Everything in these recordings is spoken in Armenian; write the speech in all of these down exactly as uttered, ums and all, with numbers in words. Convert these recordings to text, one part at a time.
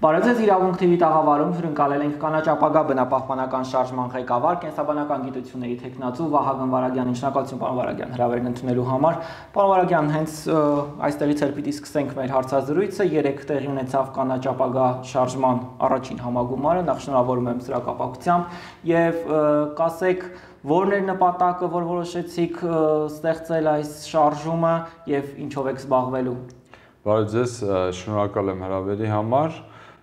Բարև ձեզ, Իրավունք թի վի տաղավարում հյուրընկալել ենք կանաչ ապագա բնապահպանական շարժման ղեկավար, կենսաբանական գիտությունների թեկնածու Վահագն Վարագյանին։ Շնորհակալություն, պարոն Վարագյան, հրավերն ընդունելու համար։ Պարոն Վարագյան, հենց այստեղից էլ պիտի սկսենք մեր հարցազրույցը։ Երեկ տեղի ունեցավ կանաչ ապագա շարժման առաջին համագումարը, նախ շնորհավորում եմ սրա կապակցությամբ, եւ կասեք, որն էր նպատակը, որ որոշեցիք ստեղծել այս շարժումը եւ ինչով եք զբաղվելու։ Բարև ձեզ, շնորհակալ եմ հրավերի համար։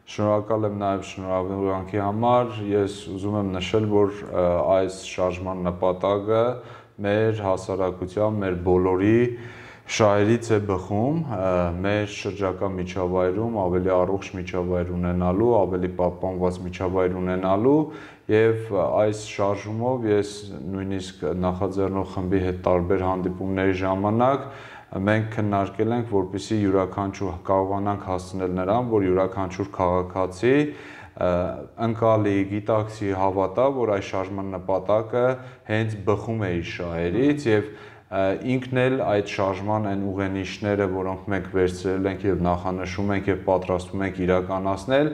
Շնորհակալ եմ նաև շնորհավորանքի համար։ Ես ուզում եմ նշել, որ այս շարժման նպատակը մեր հասարակության, մեր բոլորի շահերից է բխում, մեր շրջակա միջավայրում ավելի առողջ միջավայր ունենալու, ավելի պահպանված միջավայր ունենալու, եւ այս շարժումով ես նույնիսկ նախաձեռնող խմբի հետ տարբեր հանդիպումների ժամանակ մենք քննարկել ենք, որպեսզի յուրաքանչյուր կարողանանք հասցնել նրան, որ յուրաքանչյուր քաղաքացի ընկալի, գիտակցի, հավատա, որ այս շարժման նպատակը հենց բխում է իր շահերից եւ ինքն էլ այդ շարժման այն ուղենիշները, որոնք մենք վերցրել ենք եւ նախանշում ենք եւ պատրաստվում ենք իրականացնել,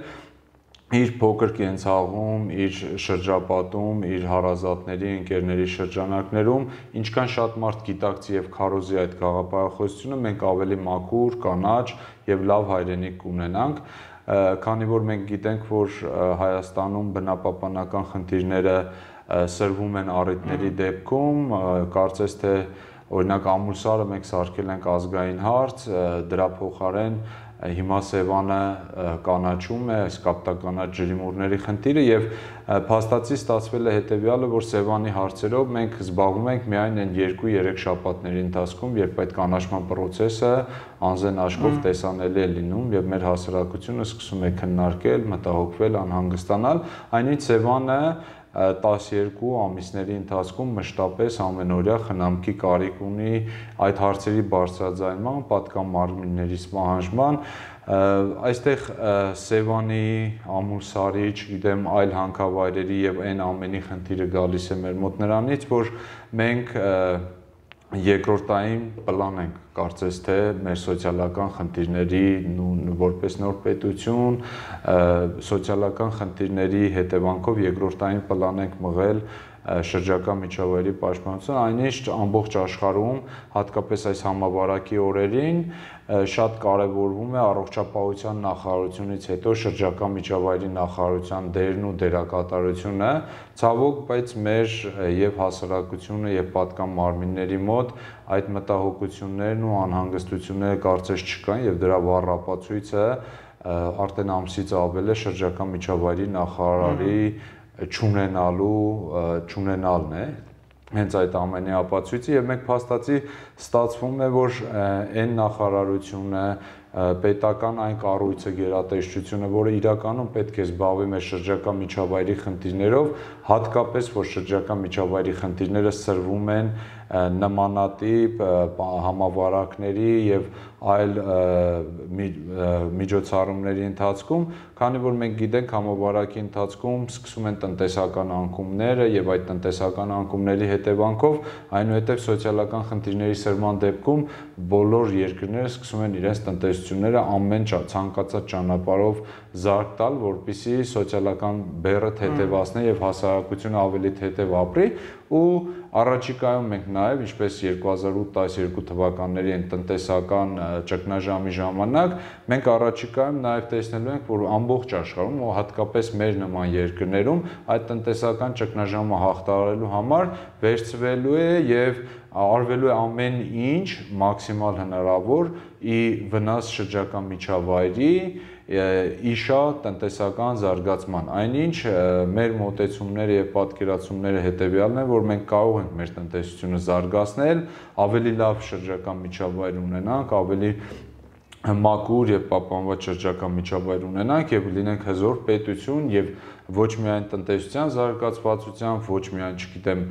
իր փոքր կենցաղում, իր շրջապատում, իր հարազատների, ընկերների շրջանակներում, ինչքան շատ մարդ գիտակցի եւ քարոզի այդ գաղափարախոսությունը, մենք ավելի մաքուր, կանաչ եւ լավ հայրենիք կունենանք, քանի որ մենք գիտենք, որ Հայաստանում բնապահպանական խնդիրները սրվում են առիթների դեպքում, կարծես թե օրինակ ամուսարը մենք սարքել ենք ազգային հարց, դրա փոխարեն հիմա Սևանը կանաչում է, այս կապտականաչ ջրիմուռների խնդիրը եւ փաստացի ստացվել է հետեւյալը, որ Սևանի հարցերով մենք զբաղվում ենք միայն այն երկու-երեք շաբաթների ընթացքում, երբ այդ կանաչման process-ը անզեն աչքով տեսանելի է լինում եւ մեր հասարակությունը սկսում է քննարկել, մտահոգվել, անհանգստանալ, այնինչ Սևանը տասներկու ամիսների ընթացքում մշտապես ամենօրյա խնամքի կարիք ունի այդ հարցերի բարձրաձայնման, պատկան մարմինների պահանջման, այստեղ Սևանի, Ամուլսարի, չգիտեմ, այլ հանքավայրերի եւ այն ամենի խնդիրը գալիս է մեր մոտ նրանից, որ մենք երկրորդային պլան ենք կարծես թե մեր սոցիալական խնդիրների որպես նոր պետություն, սոցիալական խնդիրների հետևանքով երկրորդային պլան ենք մղել շրջակա միջավայրի պաշտպանությունը, այնինչ ամբողջ աշխարհում, հատկապես այս համավարակի օրերին, շատ կարևորվում է առողջապահության նախարարությունից հետո շրջակա միջավայրի նախարարության դերն ու դերակատարությունը, ցավոք, բայց մեր եւ հասարակությունը եւ պատկան մարմինների մոտ այդ մտահոգություններն ու անհանգստությունները կարծես չկան եւ դրա վառ ապացույցը արդեն ամսից ավել է շրջակա միջավայրի նախարարի չունենալու չունենալն է հենց այդ ամենի ապացույցը եւ մենք փաստացի ստացվում է որ այն նախարարությունը պետական այն կառույցը գերատեսչությունը, որը իրականում պետք է զբաղվի մեր շրջակա միջավայրի խնդիրներով, հատկապես որ շրջակա միջավայրի խնդիրները սրվում են նմանատիպ համավարակների եւ այլ միջոցառումների ընթացքում, քանի որ մենք գիտենք համավարակի ընթացքում սկսում են տնտեսական անկումները եւ այդ տնտեսական անկումների հետևանքով այնուհետեւ սոցիալական խնդիրների սրման դեպքում բոլոր երկրները սկսում են իրենց տնտեսությունները ամեն ցանկացած ճանապարհով զարգ տալ, որպեսզի սոցիալական բեռը թեթևացնի եւ հասարակությունը ավելի թեթև ապրի ու առաջիկայում մենք նաեւ ինչպես երկու հազար ութ տասներկու թվականների այն տնտեսական ճգնաժամի ժամանակ մենք առաջիկայում նաեւ տեսնելու ենք որ ամբողջ աշխարհում ու հատկապես մեր նման երկրներում այդ տնտեսական ճգնաժամը հաղթահարելու համար վերցվելու է եւ արվելու է ամեն ինչ մաքսիմալ հնարավոր ի վնաս շրջակա միջավայրի իշա տնտեսական զարգացման, այնինչ մեր մոտեցումները եւ պատկերացումները հետեւյալն են, որ մենք կարող ենք մեր տնտեսությունը զարգացնել, ավելի լավ շրջակա միջավայր ունենանք, ավելի մաքուր եւ պահպանված շրջակա միջավայր ունենանք եւ լինենք հզոր պետություն եւ ոչ միայն տնտեսության զարգացվածությամբ, ոչ միայն, չգիտեմ,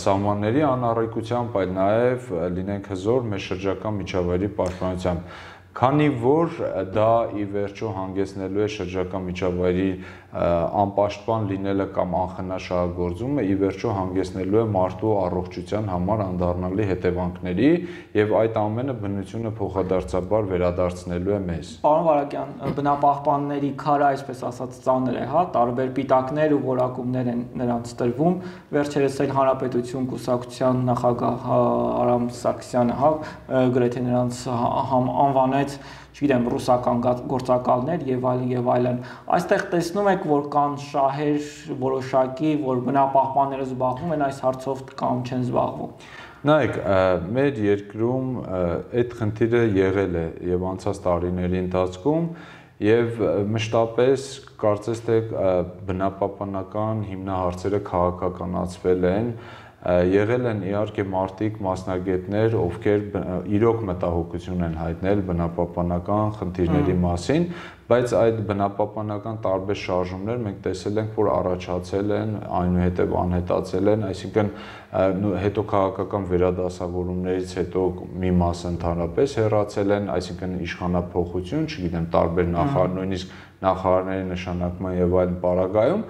սահմանների անառիկությամբ, այլ նաեւ լինենք հզոր մեր շրջակա միջավայրի պաշտպանությամբ։ Քանի որ դա ի վերջո հանգեցնելու է շրջակա միջավայրի անպաշտպան լինելը կամ անխնա շահագործումը, ի վերջո հանգեցնելու է մարդու առողջության համար անդառնալի հետևանքների եւ այդ ամենը բնությունը փոխադարձաբար վերադարձնելու է մեզ։ Պարոն Վարագյան, բնապահպանների քարը, այսպես ասած, ծանր է, հա, տարբեր պիտակներ ու որակումներ են նրանց տրվում։ Վերջերս էլ Հանրապետություն կուսակցության նախագահ Արամ Սարգսյանը, հա, գրեթե նրանց անվանեց, չգիտեմ, ռուսական գործակալներ եւ այլն եւ այլն։ Այստեղ տեսնում եք, որ կան շահեր որոշակի, որ բնապահպանները զբաղվում են այս հարցով կամ չեն զբաղվում։ Նայեք, մեր երկրում այդ խնդիրը եղել է եւ անցած տարիների ընթացքում եւ մշտապես կարծես թե բնապահպանական հիմնահարցերը քաղաքականացվել են, եղել են իհարկե մարդիկ, մասնագետներ, ովքեր իրոք մտահոգություն են հայտնել բնապահպանական խնդիրների մասին, բայց այդ բնապահպանական տարբեր շարժումներ մենք տեսել ենք, որ առաջացել են, այնուհետև անհետացել են, այսինքն հետո քաղաքական վերադասավորումներից հետո մի մասը ընդհանրապես հեռացել են, այսինքն իշխանափոխություն, չգիտեմ, տարբեր նախարար, նույնիսկ նախարարների նշանակման եւ այլն պարագայում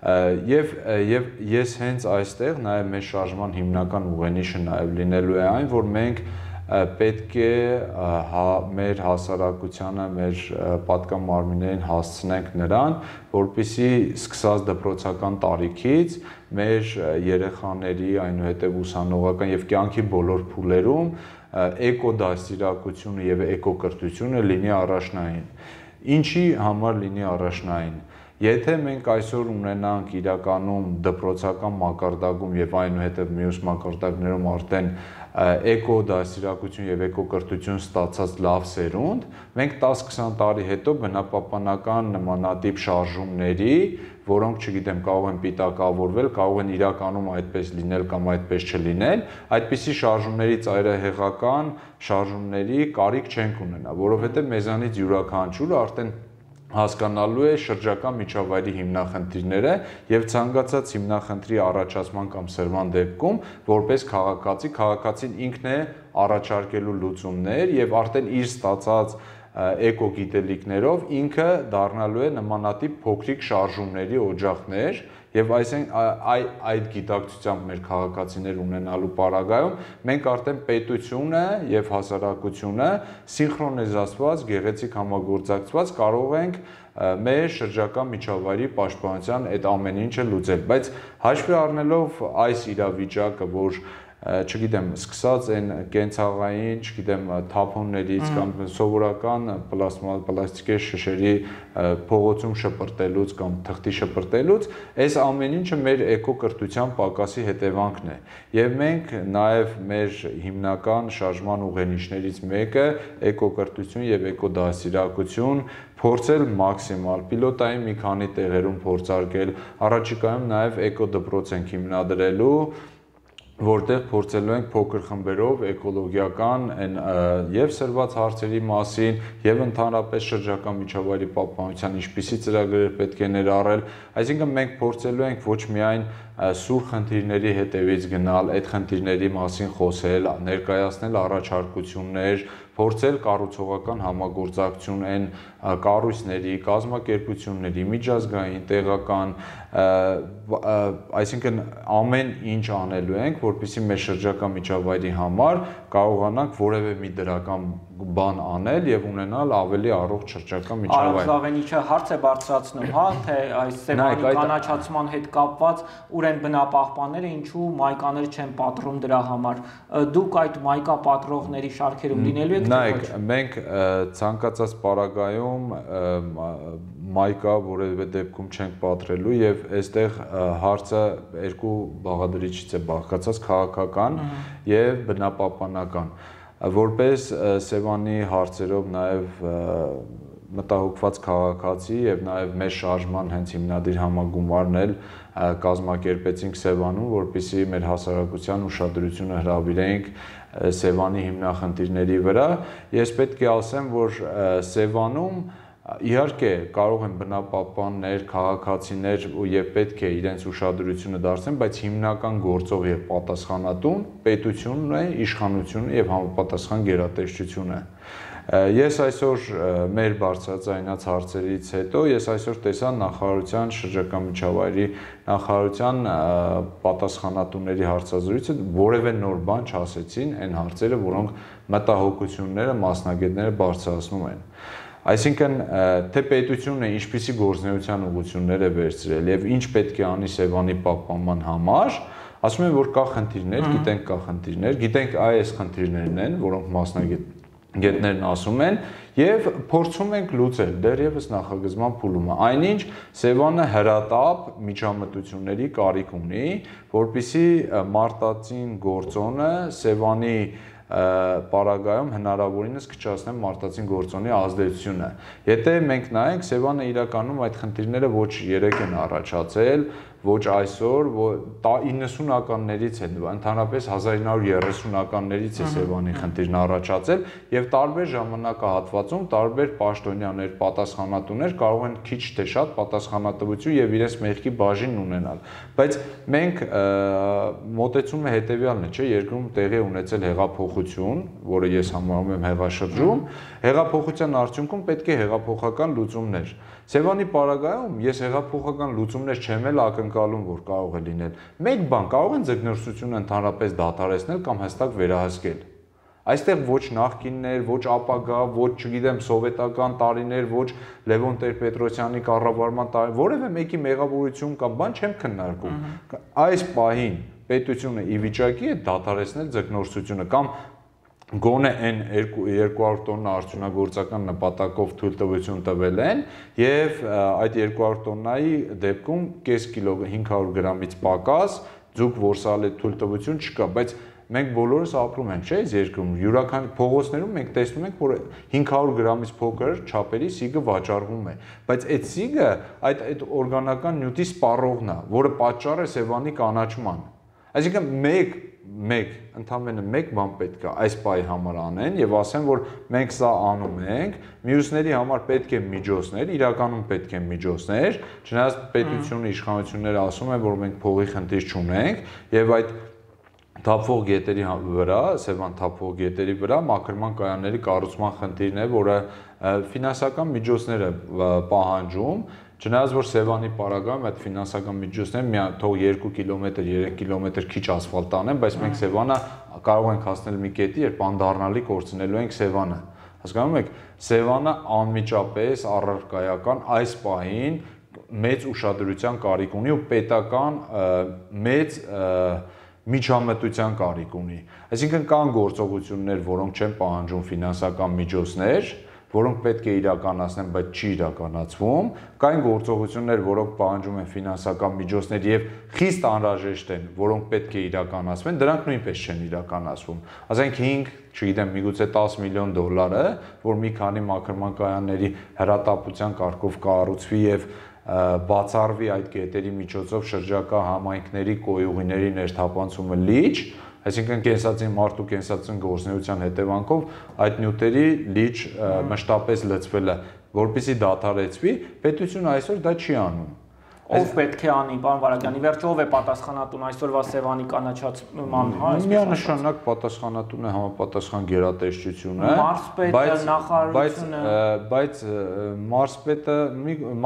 Եվ եւ ես հենց այստեղ նաեւ մեր շարժման հիմնական ուղենիշը նաեւ լինելու է այն, որ մենք պետք է հա, մեր հասարակությանը, մեր պատկան մարմիններին հասցնենք նրան, որպեսզի սկսած դպրոցական տարիքից մեր երեխաների, այնուհետև ուսանողական եւ կյանքի բոլոր փուլերում էկոդաստիարակությունը եւ էկոկրթությունը լինի առաջնային։ Ինչի համար լինի առաջնային։ Եթե մենք այսօր ունենանք իրականում դպրոցական մակարդակում եւ այնուհետեւ մյուս մակարդակներում արդեն էկոդաստիարակություն եւ էկոկրթություն ստացած լավ սերունդ, մենք տասը-քսան տարի հետո բնապահպանական նմանատիպ շարժումների, որոնք, չգիտեմ, կարող են պիտակավորվել, կարող են իրականում այդպես լինել կամ այդպես չլինել, այդպիսի շարժումների ծայրահեղական շարժումների կարիք չենք ունենա, որովհետեւ մեզանից յուրաքանչյուրը արդեն հասկանալու է շրջակա միջավայրի հիմնախնդիրները եւ ցանկացած հիմնախնդրի առաջացման կամ սրման դեպքում որպես քաղաքացի, քաղաքացին ինքն է առաջարկելու լուծումներ եւ արդեն իր ստացած էկոգիտելիքներով ինքը դառնալու է նմանատիպ փոքրիկ շարժումների օջախներ եւ այսինքն այդ գիտակցությամբ մեր քաղաքացիներ ունենալու պարագայում մենք արդեն պետությունը եւ հասարակությունը սինխրոնիզացված, գեղեցիկ համագործակցված կարող ենք մեր շրջակա միջավայրի պաշտպանության այդ ամեն ինչը լուծել, բայց հաշվի առնելով այս իրավիճակը, որ չգիտեմ, սկսած այն կենցաղային, չգիտեմ, թափոններից կամ սովորական պլաստիկե շշերի փողոցում շպրտելուց կամ թղթի շպրտելուց, այս ամեն ինչը մեր էկոկրթության պակասի հետևանքն է։ Եվ մենք նաև մեր հիմնական շարժման ուղենիշներից մեկը էկոկրթություն եւ էկոդաստիարակություն փորձել մաքսիմալ պիլոտային մի քանի տեղերում փորձարկել, առաջիկայում նաև էկոդպրոց ենք հիմնադրելու, որտեղ փորձելու ենք փոքր խմբերով էկոլոգիական եւ սրված հարցերի մասին եւ ընդհանրապես շրջակա միջավայրի պահպանության ինչպիսի ծրագրեր պետք է ներառել, այսինքն մենք փորձելու ենք ոչ միայն սուր խնդիրների հետևից գնալ, այդ խնդիրների մասին խոսել, ներկայացնել առաջարկություններ, փորձել կառուցողական համագործակցություն այն կառույցների, կազմակերպությունների, միջազգային, տեղական, այսինքն ամեն ինչ անելու ենք, որպեսզի մեր շրջակա միջավայրի համար կարողանանք որևէ մի դրական բան անել եւ ունենալ ավելի առողջ շրջակա միջավայր։ Արամ Զավենիչը հարց է բարձրացնում, հա, թե այս սեվանի կանաչացման հետ կապված ուր են բնապահպանները, ինչու մայկաներ չեն պատռում դրա համար։ Դուք այդ մայկա պատռողների շարքերում լինելու եք։ Նայեք, մենք ցանկացած պարագայում մայկա որևէ դեպքում չենք պատրելու եւ այստեղ հարցը երկու բաղադրիչից է բաղկացած՝ քաղաքական եւ բնապահպանական։ Որպես Սևանի հարցերով նաև մտահոգված քաղաքացի եւ նաև մեր շարժման հենց հիմնադիր համագումարն էլ կազմակերպեցինք Սևանում, որպեսզի մեր հասարակության ուշադրությունը հրավիրենք Սևանի հիմնախնդիրների վրա։ Ես պետք է ասեմ, որ Սևանում իհարկե կարող են բնապահպաններ, քաղաքացիներ եւ պետք է իրենց ուշադրությունը դարձնեն, բայց հիմնական գործող եւ պատասխանատուն պետությունն է, իշխանությունը եւ համապատասխան գերատեսչությունը։ Ես այսօր մեր բարձրաձայնած հարցերից հետո ես այսօր տեսա նախարարության շրջակա միջավայրի նախարարության պատասխանատուների հարցազրույցը, որևէ նոր բան չասեցին այն հարցերը, որոնք մտահոգությունները մասնագետները բարձրացնում են։ Այսինքն, թե պետությունը ինչպիսի գործունեության ուղղություններ է վերցրել եւ ինչ պետք է անի Սևանի պահպանման համար, ասում են, որ կա խնդիրներ, գիտենք կա խնդիրներ, գիտենք այս խնդիրներն են, որոնք մասնագետ Գետներն ասում են եւ փորձում ենք լուծել դեռևս նախագծման փուլում է այնինչ Սևանը հրատապ միջամտությունների կարիք ունի որպիսի մարտածին գործոնը Սևանի պարագայում հնարավորինս կչացնեն մարտածին գործոնի ազդեցությունը եթե մենք նայենք Սևանը իրականում այդ խնդիրները ոչ երեք են առաջացել ոչ այսօր իննսունականներից է ընդհանրապես հազար ինը հարյուր երեսունականներից է Սևանի խնդիրն առաջացել եւ տարբեր ժամանակահատվածում տարբեր պաշտոնյաներ պատասխանատուներ կարող են քիչ թե շատ պատասխանատվություն եւ իրենց մեղքի բաժին ունենալ բայց մենք մոտեցումը հետեւյալն է չէ երկրում տեղի ունեցել հեղափոխություն որը ես համարում եմ հեղաշրջում հեղափոխության արդյունքում պետք է հեղափոխական լուծումներ Սևանի պարագայում ես հեղափոխական լուծումներ չեմ էլ ակնկալում, որ կարող է լինել։ Մեկ բան կարող են ձգնորսությունը ընդհանրապես դադարեցնել կամ հստակ վերահսկել։ Այստեղ ոչ նախկիններ, ոչ ապագա, ոչ, չգիտեմ, սովետական տարիներ, ոչ Լևոն Տեր-Պետրոսյանի կառավարման տարի, որևէ մեկի մեղավորություն կամ բան չեմ քննարկում։ Այս պահին պետությունը ի վիճակի է դադարեցնել ձգնորսությունը կամ Գոնե այն երկու հարյուր տոննա արդյունագործական նպատակով թույլտվություն տվել են եւ այդ երկու հարյուր տոննայի դեպքում կես կիլո հինգ հարյուր գրամից պակաս ձուկ որսալի թույլտվություն չկա, բայց մենք բոլորս ապրում ենք, չէ՞, այս երկրում յուրաքանչյուր փողոցներում մենք տեսնում ենք, որ հինգ հարյուր գրամից փոքր չափերի սիգը վաճառվում է, բայց այդ սիգը այդ այդ օրգանական նյութի սպառողն է, որը պատճառ է Սևանի կանաչման։ Այսինքն մեկ մեկ ընդամենը մեկ բան պետք է այս պահի համար անեն եւ ասեն որ մենք սա անում ենք մյուսների համար պետք է միջոցներ իրականում պետք է միջոցներ չնայած պետությունը իշխանությունները ասում են որ մենք փողի խնդիր չունենք եւ այդ թափվող գետերի վրա Սևան թափվող գետերի վրա մաքրման կայանների կառուցման խնդիրն է որը ֆինանսական միջոցներ է պահանջում Չնայած որ Սևանի պարագայում այդ ֆինանսական միջոցները թող երկու կիլոմետր, երեք կիլոմետր քիչ ասֆալտ անեն, բայց մենք Սևանը կարող ենք հասնել մի կետի, երբ անդառնալի կորցնելու ենք Սևանը։ Հասկանում եք, Սևանը անմիջապես առարկայական այս պահին մեծ ուշադրության կարիք ունի ու պետական մեծ միջամտության կարիք ունի։ Այսինքն կան գործողություններ, որոնք չեն պահանջում ֆինանսական միջոցներ, որոնք պետք է իրականացնեն, բայց չի իրականացվում, կային գործողություններ, որոնք պահանջում են ֆինանսական միջոցներ եւ խիստ անհրաժեշտ են, որոնք պետք է իրականացվեն, դրանք նույնպես չեն իրականացվում։ Ասենք հինգ, չգիտեմ, միգուցե տաս միլիոն դոլարը, որ մի քանի մաքրման կայանների հրատապության կարգով կառուցվի եւ բացառվի այդ կետերի միջոցով շրջակա համայնքների կոյուղիների ներթափանցումը լիճ Այսինքն կենսածին մարդու կենսածին գործունեության հետևանքով այդ նյութերի լիճ մշտապես լցվելը, որպեսզի դադարեցվի, պետությունը այսօր դա չի անում։ Ով պետք է անի, պարոն Վարագյանի, վերջը ով է պատասխանատուն այսօրվա Սևանի կանաչացման, հա, այսպես միանշանակ պատասխանատուն է համապատասխան գերատեսչությունը, մարզպետը, նախարարությունը, բայց մարզպետը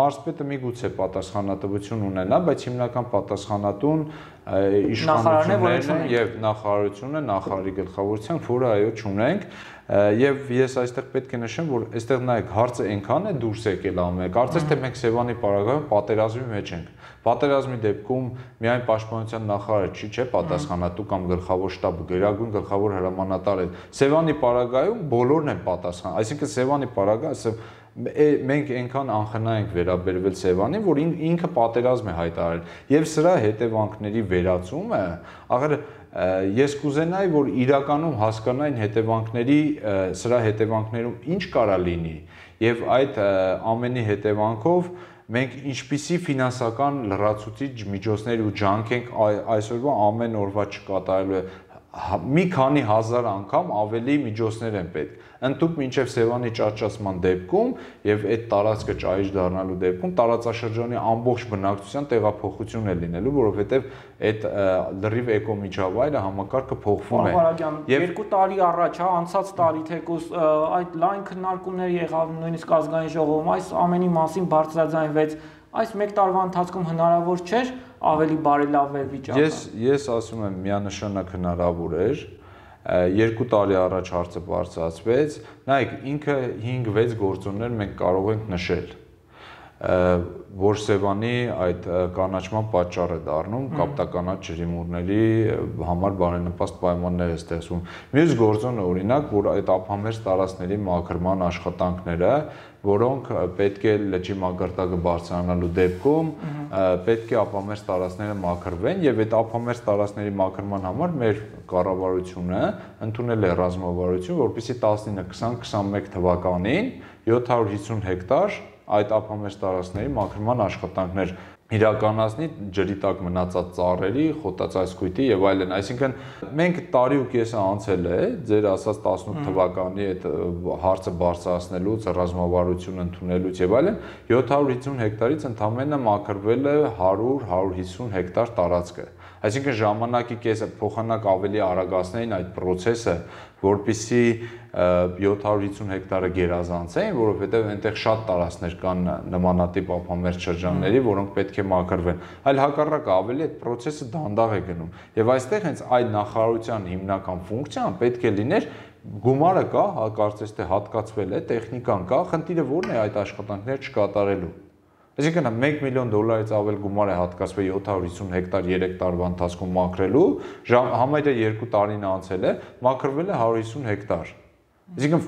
մարզպետը միգուցե պատասխանատվություն ունենա, բայց հիմնական պատասխանատուն իշխանություններն են եւ նախարարությունը, նախարարի գլխավորությամբ, որը այո չունենք Եվ ես այստեղ պետք է նշեմ, որ այստեղ նայեք, հարցը այնքան է դուրս եկել ամեն, կարծես թե մենք Սևանի պարագայում պատերազմի մեջ ենք։ Պատերազմի դեպքում միայն պաշտպանության նախարարը չի, չէ, պատասխանատու կամ գլխավոր շտաբը, գերագույն գլխավոր հրամանատարը։ Սևանի պարագայում բոլորն են պատասխան, այսինքն Սևանի պարագայը մենք այնքան անխնա ենք վերաբերվել Սևանին, որ ինքը պատերազմ է հայտարարել։ Եվ սրա հետևանքների վերացումը, ախր ես կուզենայի, որ իրականում հասկանային հետևանքների, սրա հետևանքներում ինչ կարա լինի, եւ այդ ամենի հետևանքով մենք ինչպիսի ֆինանսական լրացուցիչ միջոցներ ու ջանք ենք այսօրվա ամեն օրվա չկատարելու մի քանի հազար անգամ ավելի միջոցներ են պետք։ Ընդհանուր մինչև Սևանի ճաճացման դեպքում եւ այդ տարածքը ճայիչ դառնալու դեպքում տարածաշրջանի ամբողջ բնակչության տեղափոխություն է լինելու, որովհետեւ այդ լրիվ էկոմիջավայրը համակարգը փոխվում է։ Եվ երկու տարի առաջ, հա, անցած տարի թեկուզ այդ լայն քննարկումներ եղավ նույնիսկ ազգային ժողովում, այս ամենի մասին բարձրաձայնվեց։ Այս մեկ տարվա ընթացքում հնարավոր չէր ավելի բարելավվել վիճակը։ Ես ես ասում եմ միանշանակ հնարավոր էր։ Երկու տարի առաջ հարցը բարձրացվեց, նայեք, ինքը հինգ-վեց գործոններ մենք կարող ենք նշել, որ Սևանի այդ կանաչման պատճառ է դառնում, կապտականաչ ջրիմուռների համար բարենպաստ պայմաններ է ստեղծվում։ Մյուս գործոնը օրինակ, որ այդ ափամերձ տարածքների մաքրման աշխատանքները, որոնք պետք է լճի մակարդակը բարձրանալու դեպքում պետք է ափամերձ տարածքները մաքրվեն եւ այդ ափամերձ տարածքների մաքրման համար մեր կառավարությունը ընդունել է ռազմավարություն, որպեսզի տասնինը քսան քսանմեկ թվականին յոթ հարյուր հիսուն հեկտար այդ ափամերձ տարածքների մաքրման աշխատանքներ իրականացնի ջրի տակ մնացած ծառերի, խոտածածկույթի եւ այլն, այսինքն մենք տարի ու կեսը անցել է ձեր ասած տասնութ թվականի այդ հարցը բարձրացնելուց, ռազմավարություն ընդունելուց եւ այլն, յոթ հարյուր հիսուն հեկտարից ընդամենը մաքրվել է հարյուր հարյուր հիսուն հեկտար տարածքը։ Այսինքն ժամանակի կեսը փոխանակ ավելի արագացնեին այդ process-ը, որպեսզի յոթ հարյուր հիսուն հեկտարը գերազանցեին, որովհետև այնտեղ շատ տարածքներ կան նմանատիպ ափամերձ շրջանների, որոնք պետք է մաքրվեն։ Այլ հակառակը ավելի այդ process-ը դանդաղ է գնում։ Եվ այստեղ հենց այդ նախարարության հիմնական ֆունկցիան պետք է լիներ գումարը կա, կարծես թե հատկացվել է, տեխնիկան կա, խնդիրը ո՞րն է այդ աշխատանքները չկատարելու։ Այսինքն մեկ միլիոն դոլարից ավել գումար է հատկացվել յոթ հարյուր հիսուն հեկտար երեք տարվա ընթացքում մաքրելու, համարյա երկու տարին անցել է, մաքրվել է հարյուր հիսուն հեկտար։ Այսինքն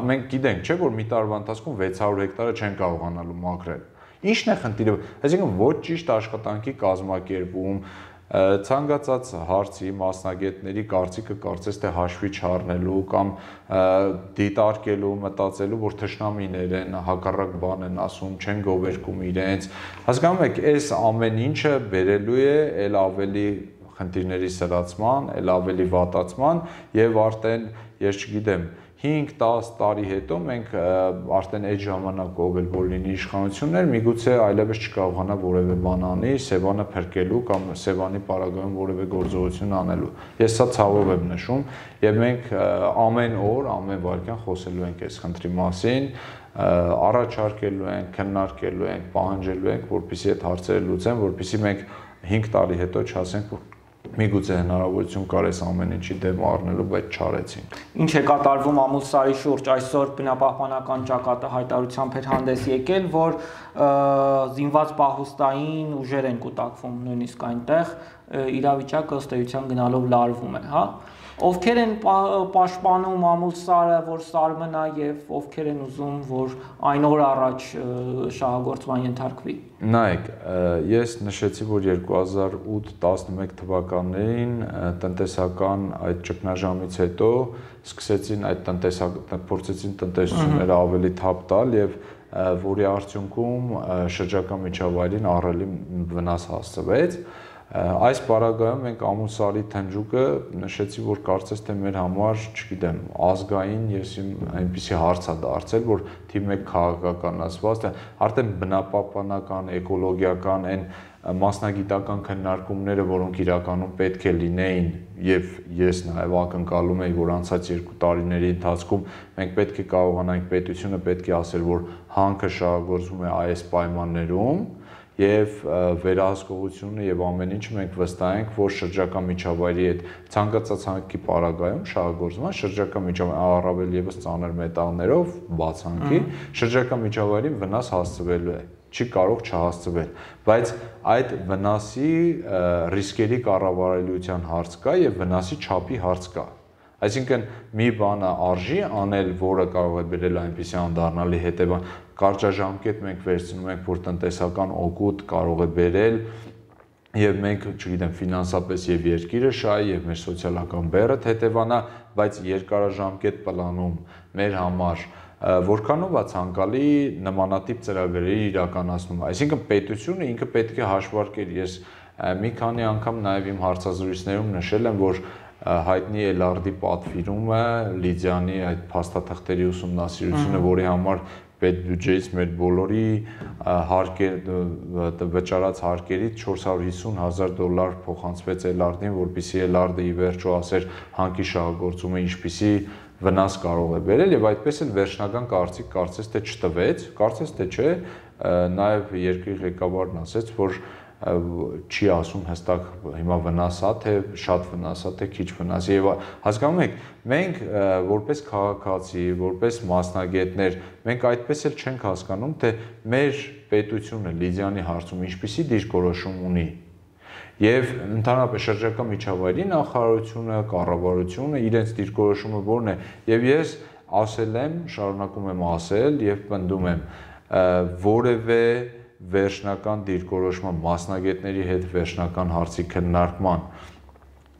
մենք գիտենք, չէ՞, որ մի տարվա ընթացքում վեց հարյուր հեկտարը չեն կարողանալու մաքրել։ Ի՞նչն է խնդիրը։ Այսինքն ոչ ճիշտ աշխատանքի կազմակերպում, ցանկացած հարցի մասնագետների կարծիքը կարծես թե հաշվի չառնելու կամ դիտարկելու, մտածելու, որ թշնամիներ են, հակառակ բան են ասում, չեն գովերքում իրենց։ Հասկանում եք, այս ամեն ինչը բերելու է ել ավելի խնդիրների սրացման, ել ավելի վատացման եւ արդեն, ես չգիտեմ, հինգ դաս տարի հետո մենք արդեն այդ ժամանակ ով էլ որ լինի իշխանություններ, միգուցե այլևս չկարողանա որևէ բան անի, Սևանը փրկելու կամ Սևանի պարագայում որևէ գործողություն անելու։ Ես սա ցավով եմ նշում եւ մենք ամեն օր, ամեն վայրկյան խոսելու ենք այս խնդրի մասին, առաջարկելու ենք, քննարկելու ենք, պահանջելու ենք, որպեսզի այդ հարցերը լուծեն, որպեսզի մենք հինգ տարի հետո չասենք, որ միգուցե հնարավորություն կար այս ամեն ինչի դեմ առնելու, բայց չարեցին։ Ինչ է կատարվում Ամուլսարի շուրջ, այսօր բնապահպանական ճակատը հայտարարությամբ էր հանդես եկել, որ զինված պահուստային ուժեր են կուտակվում նույնիսկ այնտեղ, իրավիճակը ըստ էության գնալով լարվում է, հա։ Ովքեր են պաշտպանում Ամուլսարը, որ սարմնա եւ ովքեր են ուզում, որ այն օր առաջ շահագործման ենթարկվի։ Նայեք, ես նշեցի, որ երկու հազար ութ տասնմեկ թվականներին տնտեսական այդ ճգնաժամից հետո սկսեցին այդ տնտեսական փորձեցին տնտեսությունները ավելի թափ տալ եւ որի արդյունքում շրջակա միջավայրին ահռելի վնաս հասցվեց։ Այս պարագայում մենք Ամուլսարի թնջուկը նշեցի, որ կարծես թե մեր համար, չգիտեմ, ազգային ես այնպիսի հարց է դարձել, որ թիվ մեկ քաղաքականացված, արդեն բնապահպանական, էկոլոգիական այն մասնագիտական քննարկումները, որոնք իրականում պետք է լինեին, եւ ես նաեւ ակնկալում եի, որ անցած երկու տարիների ընթացքում մենք պետք է կարողանանք, պետությունը պետք է ասել, որ հանքը շահագործվում է այս պայմաններում, եւ վերահսկողությունը եւ ամեն ինչը մենք վստահ ենք, որ շրջակա միջավայրի այդ ցանկացած հանքի պարագայում շահագործման շրջակա միջավայրի առավել եւս ծանր մետաղներով բացանքի շրջակա միջավայրին վնաս հասցվելու է, չի կարող չհասցվել, բայց այդ վնասի ռիսկերի կառավարելիության հարց կա եւ վնասի չափի հարց կա։ Այսինքն մի բանը արժի անել, որը կարող է բերել այնպիսի անդառնալի հետևան, կարճաժամկետ մենք վերցնում ենք, որ տնտեսական օգուտ կարող է բերել եւ մենք, չգիտեմ, ֆինանսապես եւ երկիրը շահի եւ մեր սոցիալական բեռը հետևանա, բայց երկարաժամկետ պլանում մեր համար որքանով է ցանկալի նմանատիպ ծրագրերի իրականացնում։ Այսինքն պետությունը ինքը պետք է հաշվարկեր։ Ես մի քանի անգամ նաեւ իմ հարցազրույցներում նշել եմ, որ հայտնի Էլարդի պատվիրումը, Լիդիանի այդ փաստաթղթերի ուսումնասիրությունը, որի համար պետբյուջեից մեր բոլորի հարկեր վճարած հարկերից չորս հարյուր հիսուն հազար դոլար փոխանցվեց Էլարդին, որպեսզի Էլարդը ի վերջո ասեր հանքի շահագործումը ինչպիսի վնաս կարող է բերել, եւ այդպես էլ վերջնական կարծիք կարծես թե չտվեց, կարծես թե չէ, նաեւ երկրի ղեկավարն ասաց, որ չի ասում հստակ հիմա վնասա թե շատ վնասա թե քիչ վնաս եւ հասկանում եք մենք որպես քաղաքացի որպես մասնագետներ մենք այդպես էլ չենք հասկանում թե մեր պետությունը Լիդիանի հարցում ինչպիսի դիրքորոշում ունի եւ ընդհանրապես շրջակա միջավայրի նախարարությունը կառավարությունը իրենց դիրքորոշումը որն է եւ ես ասել եմ շարունակում եմ ասել եւ պնդում եմ որևէ վերջնական դիրքորոշման մասնագետների հետ վերջնական հարցի քննարկման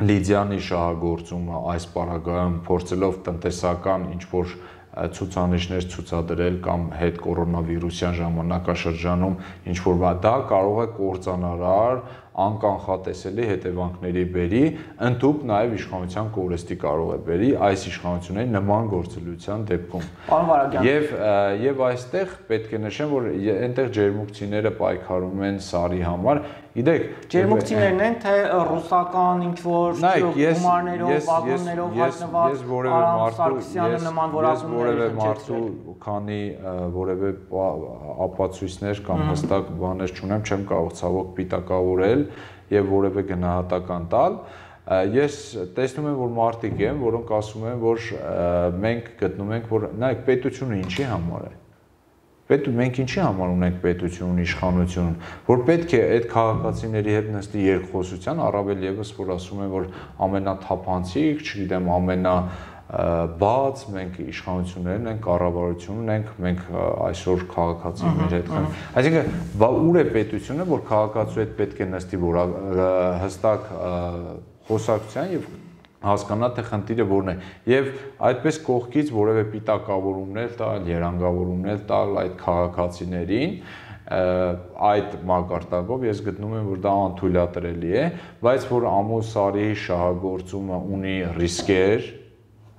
Լիդիանի շահագործումը այս պարագայում փորձելով տնտեսական ինչ-որ ցուցանիշներ ցուցադրել կամ հետ կորոնավիրուսյան ժամանակաշրջանում ինչ-որ դա կարող է կործանարար անկանխատեսելի հետևանքների բերի, ընդհուպ նաև իշխանության կորստի կարող է բերի այս իշխանությունների նման գործելիության դեպքում։ Պարոն Վարագյան, Եվ եւ այստեղ պետք է նշեմ, որ այնտեղ ջերմուկցիները պայքարում են Սարի համար։ Գիտեք, ջերմուկցիներն են թե ռուսական ինչ-որ գումարներով, վագոններով հայտնված Սարգսյանը նման որակումներ են մարդու քանի որևէ ապացույցներ կամ հստակ բաներ չունեմ, չեմ կարող ցավոք պիտակավորել եւ որևէ գնահատական տալ։ Ես տեսնում եմ, որ մարդիկ են, որոնք ասում են, որ մենք գտնում ենք, որ նայեք, պետությունը ինչի համար է։ Պետք մենք ինչի համար ունենք պետություն, իշխանություն, որ պետք է այդ քաղաքացիների հետ նստի երկխոսության, առավել եւս որ ասում են, որ ամենաթափանցիկ, չգիտեմ, ամենա բաց մենք իշխանություններն ենք, կառավարությունն ենք, մենք այսօր քաղաքացիների հետ խնդրում։ Այսինքն, բա ուր է պետությունը, որ քաղաքացու հետ պետք է նստի, որ հստակ խոսակցության եւ հասկանա թե խնդիրը որն է եւ այդպես կողքից որևէ պիտակավորումներ տալ, երանգավորումներ տալ այդ քաղաքացիներին այդ մակարդակով ես գտնում եմ որ դա անթույլատրելի է, բայց որ Ամոլ Սարիի շահագործումը ունի ռիսկեր,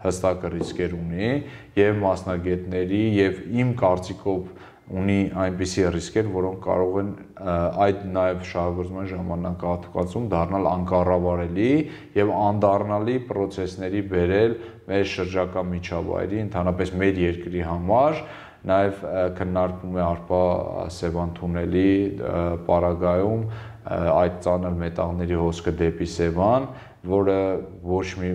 հստակ ռիսկեր ունի եւ մասնագետների եւ իմ կարծիքով ունի այնպիսի ռիսկեր, որոնք կարող են այդ նաև շահագործման ժամանակահատվածում դառնալ անկառավարելի եւ անդառնալի պրոցեսների բերել մեր շրջակա միջավայրի, ընդհանրապես մեր երկրի համար, նաև քննարկվում է Արփա Սևան թունելի պարագայում այդ ծանր մետաղների հոսքը դեպի Սևան, որը ոչ մի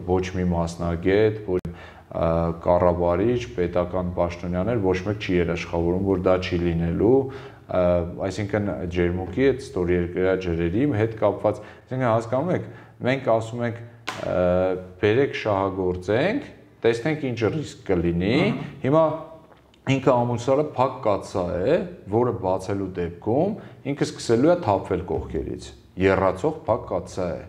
ոչ մի մասնագետ, ոչ կառավարիչ, պետական պաշտոնյաներ ոչ մեկ չի երաշխավորում, որ դա չի լինելու, այսինքն ջերմուկի այդ ստորերկրյա ջրերի հետ կապված, այսինքն հասկանում եք, մենք ասում ենք բերեք շահագործենք, տեսնենք ինչ ռիսկ կլինի, հիմա ինքը Ամոլ Սարը փակ կաթսա է, որը բացելու դեպքում ինքը սկսելու է թափվել կողքերից, եռացող փակ կաթսա է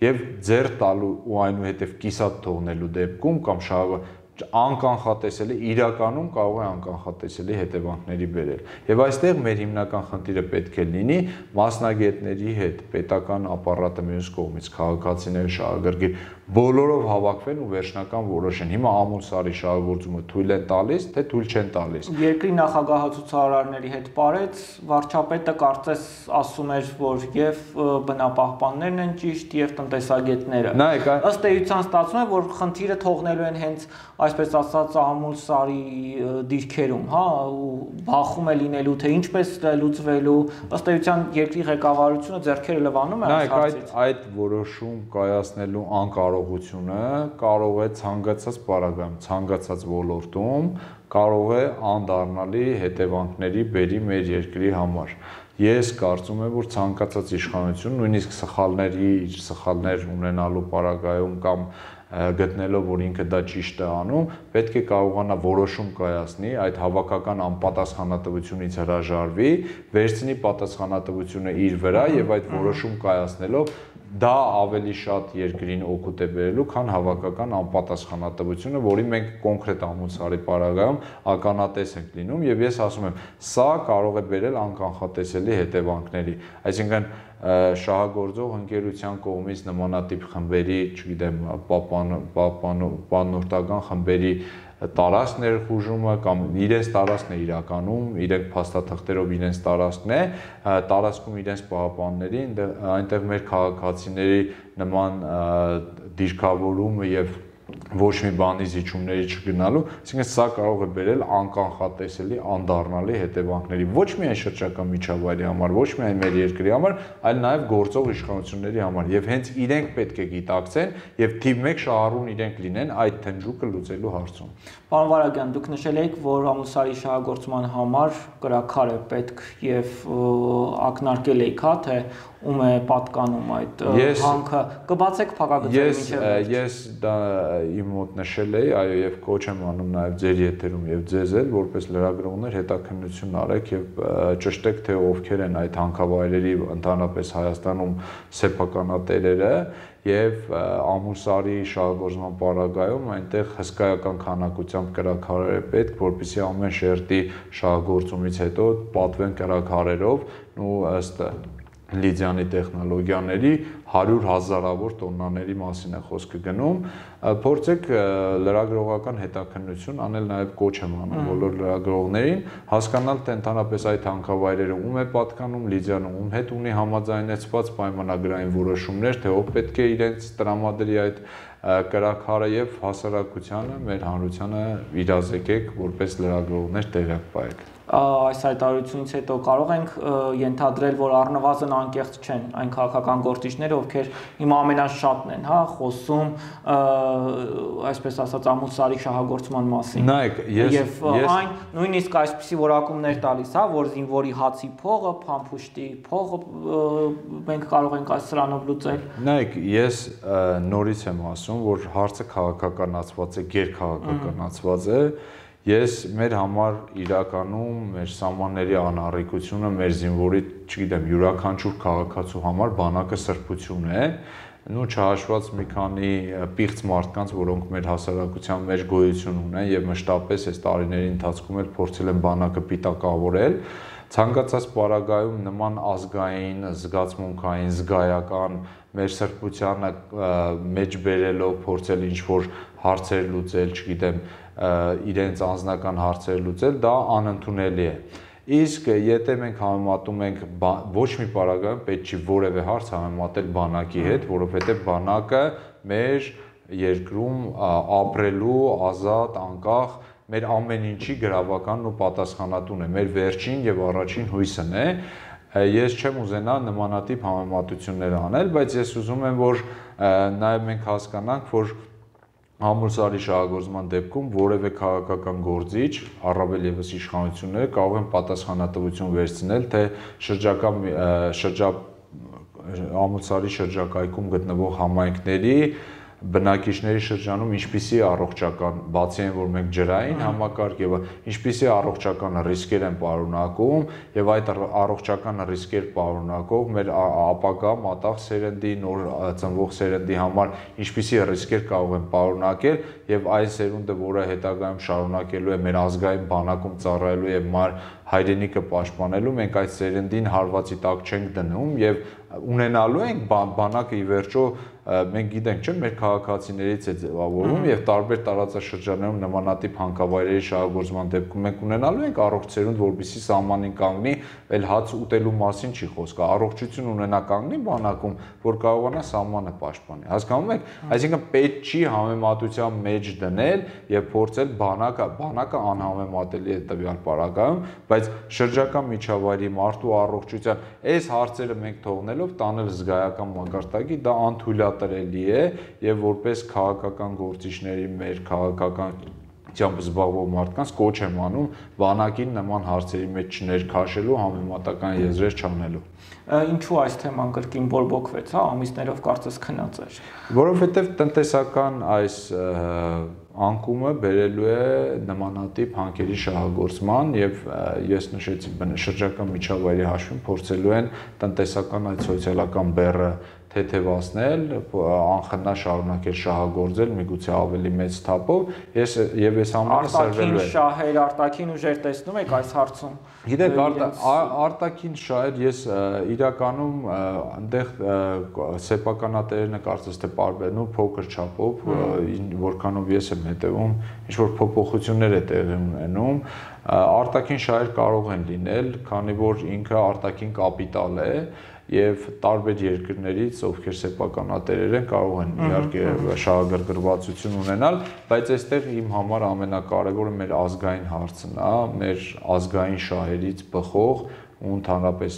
եւ ձեր տալու ու այնուհետեւ կիսատ թողնելու դեպքում կամ շահագ անկանխատեսելի իրականում կարող է անկանխատեսելի հետևանքների բերել։ Եվ այստեղ մեր հիմնական խնդիրը պետք է լինի մասնագետների հետ պետական ապարատը մյուս կողմից քաղաքացիները շահագրգիռ բոլորով հավաքվեն ու վերջնական որոշեն։ Հիմա Ամոլ Սարի շահագործումը թույլ են տալիս, թե թույլ չեն տալիս։ Երկրի նախագահը ցուցարարների հետ պարեց, վարչապետը կարծես ասում էր, որ եւ բնապահպաններն են ճիշտ եւ տնտեսագետները։ Ըստ էության ստացվում է, որ խնդիրը թողնելու են հենց այսպես ասած Ամոլ Սարի դիրքերում, հա, ու բախում է լինելու, թե ինչպես լուծվելու, ըստ էության երկրի ղեկավարությունը ձեռքերը լվանում է այս հարցից։ Նայեք, այդ որոշում կայացնելու անկարողությունը կարող է ցանկացած պարագայում, ցանկացած ոլորտում կարող է անդառնալի հետևանքների բերի մեր երկրի համար։ Ես կարծում եմ, որ ցանկացած իշխանություն, նույնիսկ սխալների, սխալներ ունենալու պարագայում կամ գտնելով, որ ինքը դա ճիշտ է անում, պետք է կարողանա որոշում կայացնի, այդ հավաքական անպատասխանատվությունից հրաժարվի, վերցնի պատասխանատվությունը իր վրա եւ այդ որոշում կայացնելով դա ավելի շատ երկրին օգուտ է բերելու, քան հավաքական անպատասխանատվությունը, որի մենք կոնկրետ ամուսարի պարագայում ականատես ենք լինում, եւ ես ասում եմ, սա կարող է բերել անկանխատեսելի հետևանքների, այսինքն շահագործող ընկերության կողմից նմանատիպ խմբերի, չգիտեմ, պանորտական խմբերի տարածք ներխուժումը կամ իրենց տարածքն է իրականում, իրենք փաստաթղթերով իրենց տարածքն է, տարածքում իրենց պահապանների, այնտեղ մեր քաղաքացիների նման դիրքավորումը եւ ոչ մի բանի զիջումների չգնալու, այսինքն սա կարող է բերել անկանխատեսելի, անդառնալի հետևանքների ոչ միայն շրջակա միջավայրի համար, ոչ միայն մեր երկրի համար, այլ նաև գործող իշխանությունների համար եւ հենց իրենք պետք է գիտակցեն եւ թիվ մեկ շահառուն իրենք լինեն այդ թնջուկը լուծելու հարցում։ Պարոն Վարագյան, դուք նշել եք, որ ամուսարի շահագործման համար կրակար է պետք եւ ակնարկել եք, հա, թե ում է պատկանում այդ հանքը, կբացեք փակագծերը մինչև։ Ես դա իմ մոտ նշել էի, այո, եւ կոչ եմ անում նաեւ ձեր եթերում եւ ձեզ էլ, որպես լրագրողներ հետաքննություն արեք եւ ճշտեք, թե ովքեր են այդ հանքավայրերի ընդհանրապես Հայաստանում սեփականատերերը եւ ամուսարի շահագործման պարագայում այնտեղ հսկայական քանակությամբ կրակարեր է պետք, որպեսզի ամեն շերտի շահագործումից հետո պատվեն կրակարերով ու ըստ Լիդիանի տեխնոլոգիաների հարյուր հազարավոր տոննաների մասին է խոսքը գնում, փորձեք լրագրողական հետաքննություն անել նաև կոչ եմ անում բոլոր լրագրողներին, հասկանալ թե ընդհանրապես այդ հանքավայրերը ում է պատկանում, Լիդիանը ում հետ ունի համաձայնեցված պայմանագրային որոշումներ, թե ով պետք է իրենց տրամադրի այդ կրակարը եւ հասարակությանը, մեր հանրությանը իրազեկեք որպես լրագրողներ տեղյակ պահեք։ Այս հայտարարությունից հետո կարող ենք ենթադրել, որ առնվազն անկեղծ չեն այն քաղաքական գործիչները, ովքեր հիմա ամենաշատն են, հա, խոսում, այսպես ասած, ամուսարի շահագործման մասին։ Նայեք, ես եւ այն նույնիսկ այսպիսի որակումներ տալիս, հա, որ զինվորի հացի փողը, փամփուշտի փողը մենք կարող ենք այս սրանով լուծել։ Նայեք, ես նորից եմ ասում, որ հարցը քաղաքականացված է, գերքաղաքականացված է։ Ես մեր համար իրականում մեր սահմանների անառիկությունը, մեր զինվորի, չգիտեմ, յուրաքանչյուր քաղաքացու համար բանակը սրբություն է, նու չհաշված մի քանի պիղծ մարդկանց, որոնք մեր հասարակության մեջ գոյություն ունեն եւ մշտապես այս տարիների ընթացքում էլ փորձել են բանակը պիտակավորել, ցանկացած պարագայում նման ազգային, զգացմունքային, զգայական մեր սրբությանը մեջ բերելով փորձել ինչ-որ հարցեր լուծել, չգիտեմ, իրենց անձնական հարցեր լուծել, դա անընդունելի է։ Իսկ եթե մենք համեմատում ենք ոչ մի պարագայում պետք չի որևէ հարց համեմատել բանակի հետ, որովհետև բանակը մեր երկրում ապրելու ազատ, անկախ, մեր ամեն ինչի գրավականն ու պատասխանատուն է, մեր վերջին եւ առաջին հույսն է։ Ես չեմ ուզենա նմանատիպ համեմատություններ անել, բայց ես ուզում եմ, որ նաեւ մենք հասկանանք, որ ամուսարի շահագործման դեպքում որևէ քաղաքական գործիչ, առավել եւս իշխանությունները կարող են պատասխանատվություն վերցնել, թե շրջակա շրջա ամուսարի շրջակայքում գտնվող համայնքների բնակիչների շրջանում ինչպիսի առողջական, բացի այն, որ մենք ջրային համակարգ եւ ինչպիսի առողջական ռիսկեր են պարունակում եւ այդ առողջական ռիսկեր պարունակող մեր ապագա մատաղ սերնդի, նոր ծնվող սերնդի համար ինչպիսի ռիսկեր կարող են պարունակել եւ այն սերունդը, որը հետագայում շարունակելու է մեր ազգային բանակում ծառայելու եւ մար հայրենիքը պաշտպանելու, մենք այդ սերնդին հարվածի տակ չենք դնում եւ ունենալու ենք բանակը ի վերջո մենք գիտենք, չէ՞, մեր քաղաքացիներից է ձևավորվում եւ տարբեր տարածաշրջաններում նմանատիպ հանքավայրերի շահագործման դեպքում մենք ունենալու ենք առողջ սերունդ, որպեսզի սահմանին կանգնի, այլ հաց ուտելու մասին չի խոսքը, առողջություն ունենա կանգնի բանակում, որ կարողանա սահմանը պաշտպանի։ Հասկանում եք, այսինքն պետք չի համեմատության մեջ դնել եւ փորձել բանակը, բանակը անհամեմատելի է տվյալ պարագայում, բայց շրջակա միջավայրի մարդու առողջության այս հարցերը մենք թողնելով տանել զգայական մակարդակի, դա անթույլատրելի է եւ որպես քաղաքական գործիչների մեր քաղաքականությամբ զբաղվող մարդկանց կոչ եմ անում բանակին նման հարցերի մեջ չներքաշելու, համեմատական եզրեր չանելու։ Ինչու այս թեման կրկին բորբոքվեց, հա, ամիսներով կարծես քնած էր։ Որովհետեւ տնտեսական այս անկումը բերելու է նմանատիպ հանքերի շահագործման եւ ես նշեցի շրջակա միջավայրի հաշվին փորձելու են տնտեսական այդ սոցիալական բեռը թեթևացնել, անխնա շարունակել շահագործել միգուցե ավելի մեծ թափով, ես եւ այս ամենը սրվելու է։ Արտաքին շահեր, արտաքին ուժեր տեսնում եք այս հարցում։ Գիտեք, արտաքին շահեր ես իրականում այնտեղ սեփականատերերը կարծես թե պարբերն ու փոքր չափով, որքանով ես եմ հետևում, ինչ որ փոփոխություններ է տեղի ունենում, արտաքին շահեր կարող են լինել, քանի որ ինքը արտաքին կապիտալ է եւ տարբեր երկրներից, ովքեր սեփականատերեր են, կարող են իհարկե շահագրգռվածություն ունենալ, բայց այստեղ իմ համար ամենակարևորը մեր ազգային հարցն է, մեր ազգային շահերից բխող ու ընդհանրապես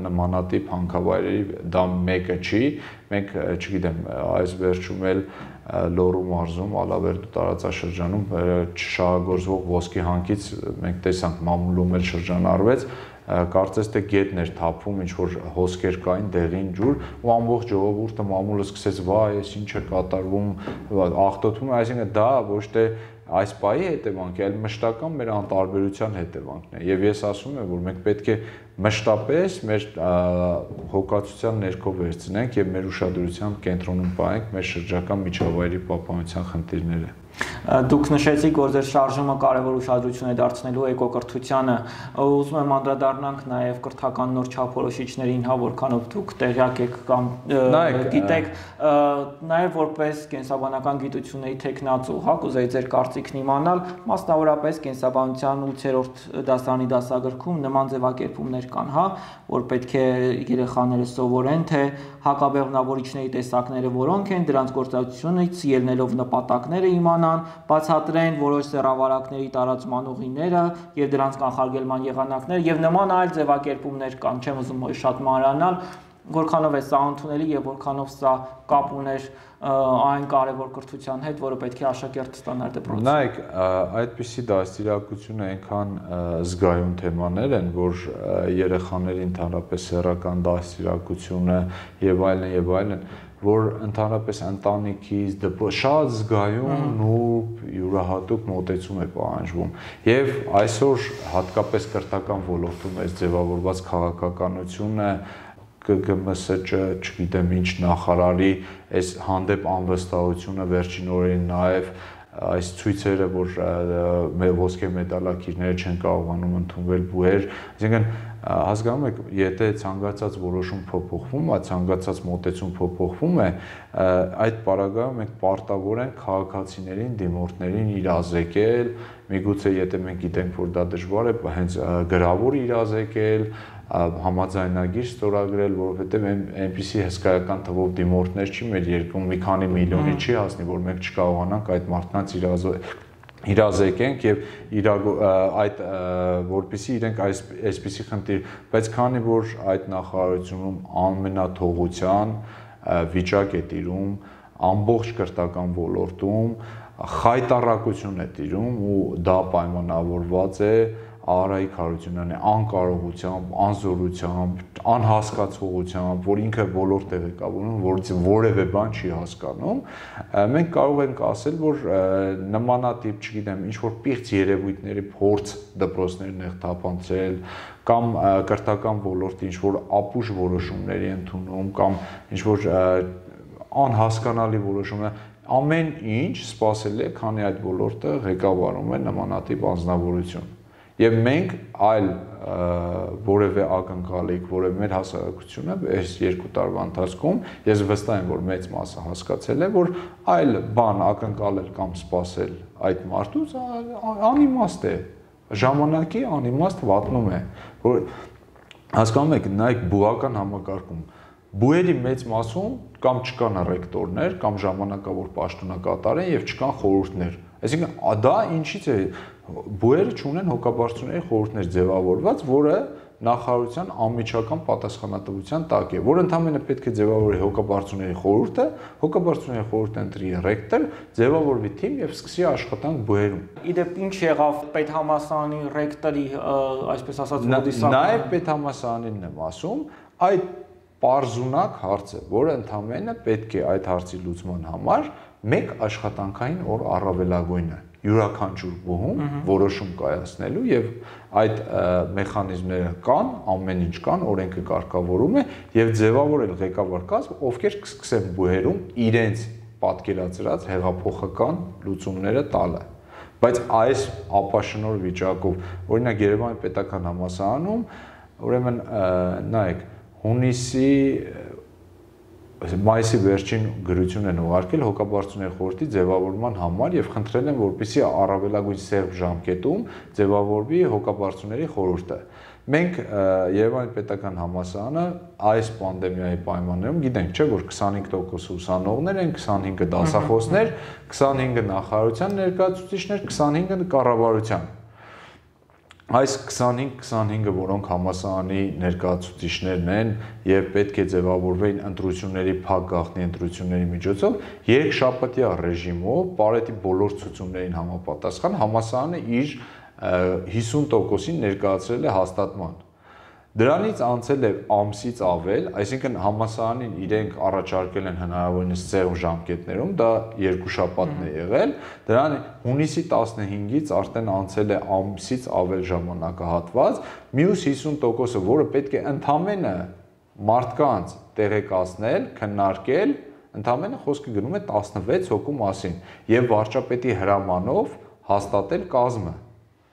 նմանատիպ հանքավայրերի դա մեկը չի, մենք, չգիտեմ, այս վերջում էլ Լոռու մարզում, Ալավերդու տարածաշրջանում չշահագործվող ոսկի հանքից մենք տեսանք մամուլում էլ շրջանառվեց, կարծես թե գետն էր թափում, ինչ որ հոսքեր կային, դեղին ջուր, ու ամբողջ ժողովուրդը մամուլը սկսեց, վայ, այս ինչ է կատարվում, աղտոտվում, այսինքն դա ոչ թե այս պահի հետևանք է, այլ մշտական մեր անտարբերության հետևանքն է, եւ ես ասում եմ, որ մենք պետք է մշտապես մեր հոգացության ներքո վերցնենք եւ մեր ուշադրության կենտրոնում պահենք մեր շրջակա միջավայրի պահպանության խնդիրները։ Դուք նշեցիք, որ ձեր շարժումը կարևոր ուշադրություն է դարձնելու էկոկրթությանը, ուզում եմ անդրադառնանք նաև կրթական նոր չափորոշիչներին, հա, որքանով դուք տեղյակ եք կամ գիտեք, նաև որպես կենսաբանական գիտությունների թեկնածու, հա, կուզեի ձեր կարծիքն իմանալ, մասնավորապես կենսաբանության ութերորդ դասարանի դասագրքում նման ձևակերպումներ կան, հա, որ պետք է երեխաները սովորեն, թե հակաբեղմնավորիչների տեսակները որոնք են, դրանց գործածությունից ելնելով նպատակները իմանան, բացատրեն որոշ սեռավարակների տարածման ուղիները եւ դրանց կանխարգելման եղանակները եւ նման այլ ձևակերպումներ կան, չեմ ուզում շատ մանրանալ, որքանով է սա ընդունելի եւ որքանով սա կապ ուներ այն կարևոր կրթության հետ, որը պետք է աշակերտը ստանար դպրոցում։ Նայեք, այդպիսի դաստիարակությունը այնքան զգայուն թեմաներ են, որ երեխաների ընդհանրապես սեռական դաստիարակությունը եւ այլն եւ այլն, որ ընդհանրապես ընտանիքից դպրոց շատ զգայուն նուրբ յուրահատուկ մոտեցում է պահանջվում եւ այսօր հատկապես կրթական ոլորտում այս ձևավորված քաղաքականությունը Կ Գ M S Չ, չգիտեմ ինչ նախարարի այս հանդեպ անվստահությունը վերջին օրերին նաև այս ցույցերը, որ ոսկե մեդալակիրները չեն կարողանում ընդունվել բուհեր, այսինքն հասկանում եք, եթե ցանկացած որոշում փոփոխվում է, ցանկացած մոտեցում փոփոխվում է, այդ պարագայում մենք պարտավոր ենք քաղաքացիներին, դիմորդներին իրազեկել, միգուցե եթե մենք գիտենք, որ դա դժվար է, հենց գրավոր իրազեկել, համաձայնագիր ստորագրել, որովհետև այնպիսի հսկայական թվով դիմորդներ չի մեր երկրում, մի քանի միլիոնի չի հասնի, որ մենք չկարողանանք այդ մարդկանց իրազեկենք եւ այդ որպեսզի իրենք այսպիսի խնդիր, բայց քանի որ այդ նախարարությունում անմենաթողության վիճակ է տիրում, ամբողջ կրթական ոլորտում խայտառակություն է տիրում ու դա պայմանավորված է Արայիկ Հարությունյանի անկարողությամբ, անզորությամբ, անհասկացողությամբ, որ ինքը բոլոր տեղեկավորում, որից որևէ բան չի հասկանում, մենք կարող ենք ասել, որ նմանատիպ, չգիտեմ, ինչ որ պիղծ երևույթների փորձ դպրոցներն է թափանցել, կամ կրթական ոլորտի ինչ որ ապուշ որոշումների ընդունում, կամ ինչ որ անհասկանալի որոշումներ, ամեն ինչ սпасելի է, քանի այդ ոլորտը ղեկավարում է նմանատիպ անձնավորություն։ Եվ մենք այլ որևէ ակնկալիք, որևէ մեր հասարակությունը այս երկու տարվա ընթացքում ես վստահ եմ, որ մեծ մասը հասկացել է, որ այլ բան ակնկալել կամ սпасել այդ մարդուց անիմաստ է, ժամանակի անիմաստ վատնում է, որ հասկանում եք, նայեք բուհական համակարգում, բուհերի մեծ մասում կամ չկան ռեկտորներ, կամ ժամանակավոր պաշտոնակատար են եւ չկան խորհուրդներ։ Այսինքն դա ինչից է բուհերը չունեն հոգաբարձությունների խորհուրդներ ձևավորված, որը նախարարության անմիջական պատասխանատվության տակ է, որ ընդհանրապես պետք է ձևավորի հոգաբարձությունների խորհուրդը, հոգաբարձությունների խորհուրդը ընտրի ռեկտոր, ձևավորվի թիմ եւ սկսի աշխատանք բուհերում։ Իդեպ ինչ եղավ պետհամալսարանի ռեկտորի, այսպես ասած, ոդիսակը։ Նաեւ պետհամալսարանին եմ ասում, այդ պարզունակ հարց է, որը ընդհանրապես պետք է այդ հարցի լուծման համար մեկ աշխատանքային օր առավելագույնը յուրաքանչյուր բուհում որոշում կայացնելու եւ այդ մեխանիզմները կան, ամեն ինչ կան, օրենքը կարգավորում է եւ ձևավորել ղեկավար կազմ, ովքեր կսկսեն բուհերում իրենց պատկերացրած հեղափոխական լուծումները տալը։ Բայց այս ապաշնոր վիճակով, օրինակ Երևանի պետական համալսարանում, ուրեմն նայեք, հունիսի մայիսի վերջին գրություն են ուղարկել հոգաբարձությունների խորհրդի ձևավորման համար եւ խնդրել են, որպեսզի առավելագույն սեղմ ժամկետում ձևավորվի հոգաբարձությունների խորհուրդը։ Մենք Երևանի պետական համալսարանը այս պանդեմիայի պայմաններում գիտենք, չէ, որ քսանհինգ տոկոս ուսանողներ են, քսանհինգը դասախոսներ, քսանհինգը նախարարության ներկայացուցիչներ, քսանհինգը կառավարության։ Այս քսանհինգ քսանհինգը, որոնք համալսարանի ներկայացուցիչներն են եւ պետք է ձևավորվեին ընտրությունների փակ գաղտնի ընտրությունների միջոցով, երկշաբաթյա ռեժիմով Պարետի բոլոր ցուցումներին համապատասխան համալսարանը իր հիսուն տոկոսին ներկայացրել է հաստատման։ Դրանից անցել է ամսից ավել, այսինքն համալսարանին իրենք առաջարկել են հնարավորինս սեղմ ժամկետներում, դա երկու շաբաթն է եղել, դրան հունիսի տասնհինգից արդեն անցել է ամսից ավել ժամանակահատված, մյուս հիսուն տոկոսը, որը պետք է ընդամենը մարդկանց տեղեկացնել, քննարկել, ընդամենը խոսքը գնում է տասնվեց հոգու մասին եւ վարչապետի հրամանով հաստատել կազմը։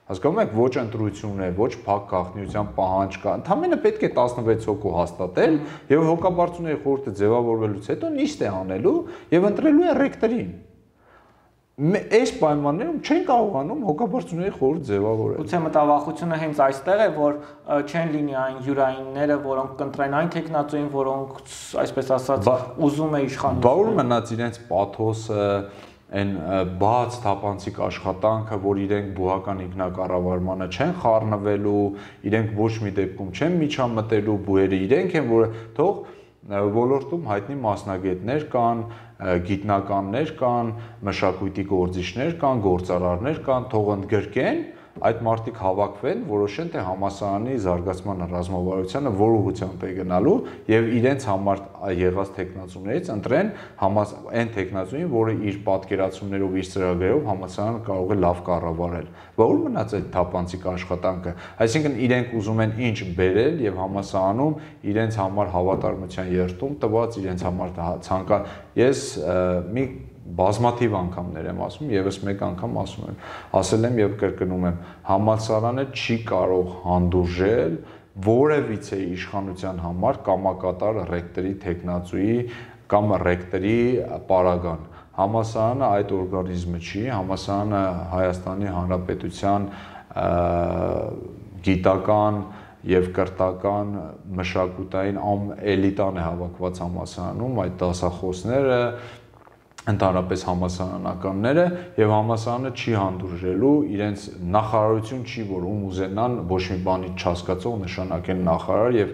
Հասկանում եք, ոչ ընտրություն է, ոչ փակ գաղտնիության պահանջ կա, ընդամենը պետք է տասնվեց հոգու հաստատել եւ հոգաբարձությունների խորհուրդը ձևավորվելուց հետո նիստ է անելու եւ ընտրելու է ռեկտորին։ Այս պայմաններում չեն կարողանում հոգաբարձությունների խորհուրդ ձևավորել։ Գուցե մտավախությունը հենց այստեղ է, որ չեն լինի այն յուրայինները, որոնք կընտրեն այն տեխնացուին, որոնք, այսպես ասած, ուզում է իշխանություն։ Բա ուր մնաց իրենց պաթոսը, այն բաց թափանցիկ աշխատանքը, որ իրենք բուհական ինքնակառավարմանը չեն խառնվելու, իրենք ոչ մի դեպքում չեն միջամտելու, բուհերը իրենք են, որը թող ոլորտում հայտնի մասնագետներ կան, գիտնականներ կան, մշակույթի գործիչներ կան, գործարարներ կան, թող ընդգրկեն, այդ մարդիկ հավաքվեն, որոշեն, թե համալսարանի զարգացման ռազմավարությունը որ ուղղությամբ է գնալու եւ իրենց համար եղած տեխնացուներից ընտրեն այն տեխնացուին, որը իր պատկերացումներով, իր ծրագրերով համալսարանը կարող է լավ կառավարել։ Բա ուր մնաց այդ թափանցիկ աշխատանքը։ Այսինքն իրենք ուզում են ինչ բերել եւ համալսարանում իրենց համար հավատարմության երթում տված, իրենց համար ցանկա ես մի բազմաթիվ անգամներ եմ ասում, եւս մեկ անգամ ասում եմ, ասել եմ եւ կրկնում եմ, համալսարանը չի կարող հանդուրժել որևիցե իշխանության համար կամակատար ռեկտորի տեխնացուի կամ ռեկտորի պարագան։ Համալսարանը այդ օրգանիզմը չի, համալսարանը Հայաստանի Հանրապետության գիտական եւ կրթական մշակութային էլիտան է հավաքված համալսարանում, այդ դասախոսները ընդհանրապես համալսարանականները եւ համալսարանը չի հանդուրժելու իրենց նախարարություն չի, որ ում ուզենան ոչ մի բանից չհասկացող նշանակեն նախարար եւ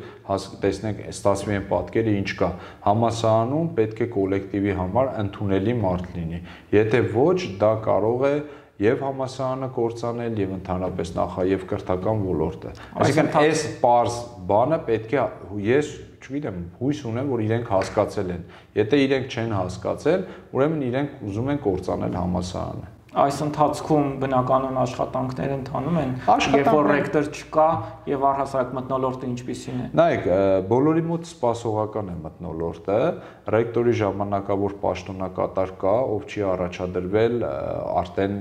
տեսնենք ստացվի են պատկերը ինչ կա համալսարանում պետք է կոլեկտիվի համար ընդունելի մարդ լինի եթե ոչ դա կարող է եւ համալսարանը կործանել եւ ընդհանրապես նախա եւ կրթական ոլորտը այսինքն այս պարզ բանը պետք է ես չգիտեմ, հույս ունեմ, որ իրենք հասկացել են։ Եթե իրենք չեն հասկացել, ուրեմն իրենք ուզում են կործանել համալսարանը։ Այս ընթացքում բնականon աշխատանքներ ընթանում են, երբ որ ռեկտոր չկա եւ առհասարակ մթնոլորտը ինչպիսին է։ Նայեք, բոլորի մոտ սպասողական է մթնոլորտը, ռեկտորի ժամանակավոր պաշտոնակատար կա, ով չի առաջադրվել արդեն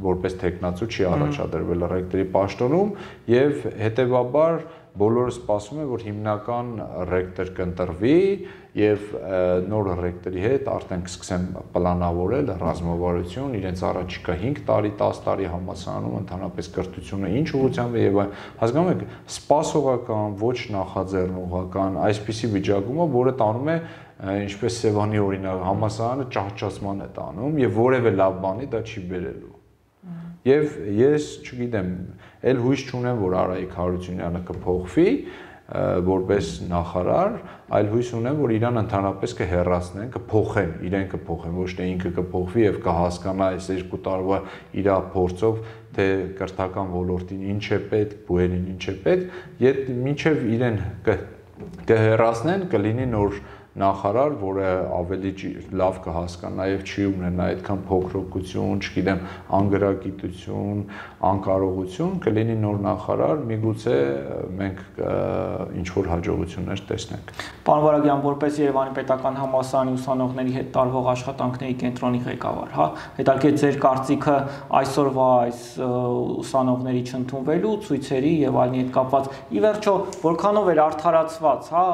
որպես տեխնացու չի առաջադրվել ռեկտորի պաշտոնում եւ հետեւաբար բոլորը սպասում են, որ հիմնական ռեկտոր կընտրվի եւ նոր ռեկտորի հետ արդեն կսկսեն պլանավորել ռազմավարություն, իրենց առաջիկա հինգ տարի, տաս տարի համալսարանում ընդհանրապես կրթությունը ինչ ուղղությամբ է եւ հասկանում եք, սպասողական, ոչ նախաձեռնողական, այսպիսի վիճակում է, որը տանում է ինչպես Սևանի օրինակ համալսարանը ճահճացման է տանում եւ որևէ լավ բանի դա չի բերելու։ Եվ ես, չգիտեմ, էլ հույս չունեմ, որ Արայիկ Հարությունյանը կփոխվի որպես նախարար, այլ հույս ունեմ, որ իրան ընդհանրապես կհեռացնեն, կփոխեն, իրեն կփոխեն, ոչ թե ինքը կփոխվի եւ կհասկանա այս երկու տարվա իր փորձով, թե կրթական ոլորտին ինչ է պետք, բուհերին ինչ է պետք, եթե մինչեւ իրեն կհեռացնեն, կլինի նոր նախարար, որը ավելի լավ կհասկանա եւ չի ունենա այդքան փոքրοκություն, չգիտեմ, անգրագիտություն, անկարողություն, կլինի նոր նախարար, միգուցե մենք ինչ որ հաջողություններ տեսնենք։ Պարոն Վարագյան, որպես Երևանի պետական համալսարանի ուսանողների հետ տարվող աշխատանքների կենտրոնի ղեկավար, հա, հետաքրքիր ձեր կարծիքը այսօրվա այս ուսանողների չընդունվելու ցույցերի եւ այլնի հետ կապված։ Ի վերջո, որքանով էր արդարացված, հա,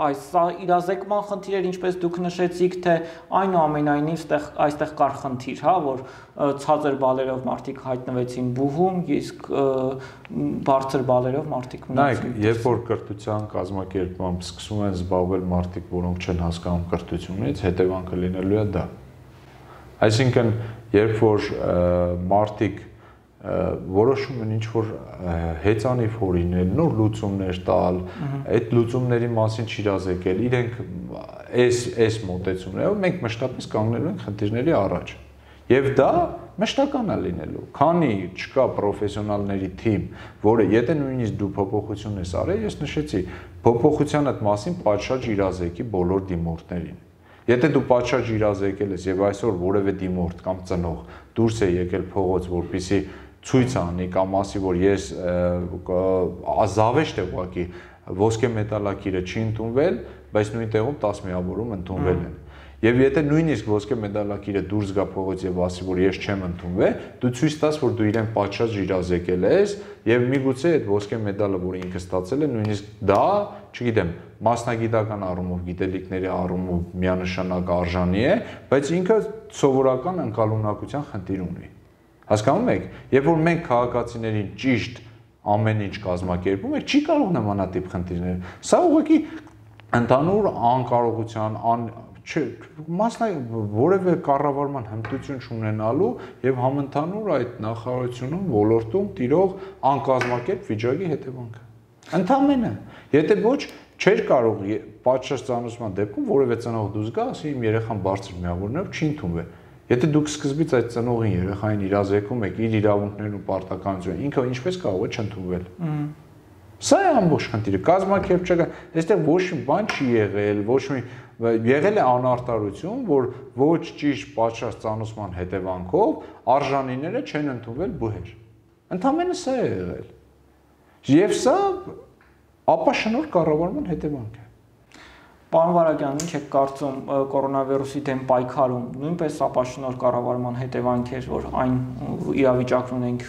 այս իրազեկման խնդիրեր, ինչպես դուք նշեցիք, թե այնուամենայնիվ այստեղ կար խնդիր, հա, որ ցածր բալերով մարդիկ հայտնվեցին բուհում, իսկ բարձր բալերով մարդիկ մնացին։ Նայեք, երբ որ կրթության կազմակերպմամբ սկսում են զբաղվել մարդիկ, որոնք չեն հասկանում կրթությունից, հետևանքը լինելու է դա։ Այսինքն, երբ որ մարդիկ որոշում են ինչ-որ հեծանիվ հորինել, նոր լուծումներ տալ, այդ լուծումների մասին չիրազեկել, իրենք այս մոտեցումներով մենք մշտապես կանգնելու ենք խնդիրների առաջ։ Եվ դա մշտական է լինելու, քանի չկա պրոֆեսիոնալների թիմ, որը եթե նույնիսկ դու փոփոխություն ես արել, ես նշեցի, փոփոխության այդ մասին պատշաճ իրազեկի բոլոր դիմորդներին։ Եթե դու պատշաճ իրազեկել ես եւ այսօր որևէ դիմորդ կամ ծնող դուրս է եկել փողոց, որպեսզի ցույց անի կամ ասի, որ ես զավեշտ է ուղղակի ոսկե մեդալակիրը չի ընդունվել, բայց նույն տեղում տասը միավորում ընդունվել են։ Եվ եթե նույնիսկ ոսկե մեդալակիրը դուրս գա փողոց եւ ասի, որ ես չեմ ընդունվել, դու ցույց տաս, որ դու իրեն պատշաճ իրազեկել ես եւ միգուցե այդ ոսկե մեդալը, որը ինքը ստացել է, նույնիսկ դա, չգիտեմ, մասնագիտական առումով, գիտելիքների առումով միանշանակ արժանի է, բայց ինքը սովորական ընկալունակության խնդիր ունի։ Հասկանում եք, երբ որ մենք քաղաքացիներին ճիշտ ամեն ինչ կազմակերպում ենք, չի կարող նմանատիպ խնդիրներ։ Սա ուղղակի ընդհանուր անկարողության, մասնա որևէ կառավարման հմտություն չունենալու եւ համընդհանուր այդ նախարարությունում ոլորտում տիրող անկազմակերպ վիճակի հետևանքը։ Ընդամենը, եթե ոչ չէր կարող պատշաճ ծանուցման դեպքում որևէ ծնող դուրս գա, ասի իմ երեխան բարձր միավորներով չի ընդունվել։ Եթե դուք սկզբից այդ ծնողին երեխային իրազեկում եք իր իրավունքներն ու պարտականությունը, ինքը ինչպես կարող է չընդունվել։ Սա է ամբողջ խնդիրը, կազմակերպչական, այստեղ ոչ մի բան չի եղել, ոչ մի եղել է անարտարություն, որ ոչ ճիշտ պատշաճ ծանուցման հետևանքով արժանիները չեն ընդունվել բուհեր։ Ընդամենը սա է եղել։ Եվ սա ապաշնորհ կառավարման հետևանք է։ Պարոն Վարագյան, ինչ եք կարծում կորոնավիրուսի դեմ պայքարում նույնպես ապաշնորհ կառավարման հետևանք էր, որ այն իրավիճակն ունենք,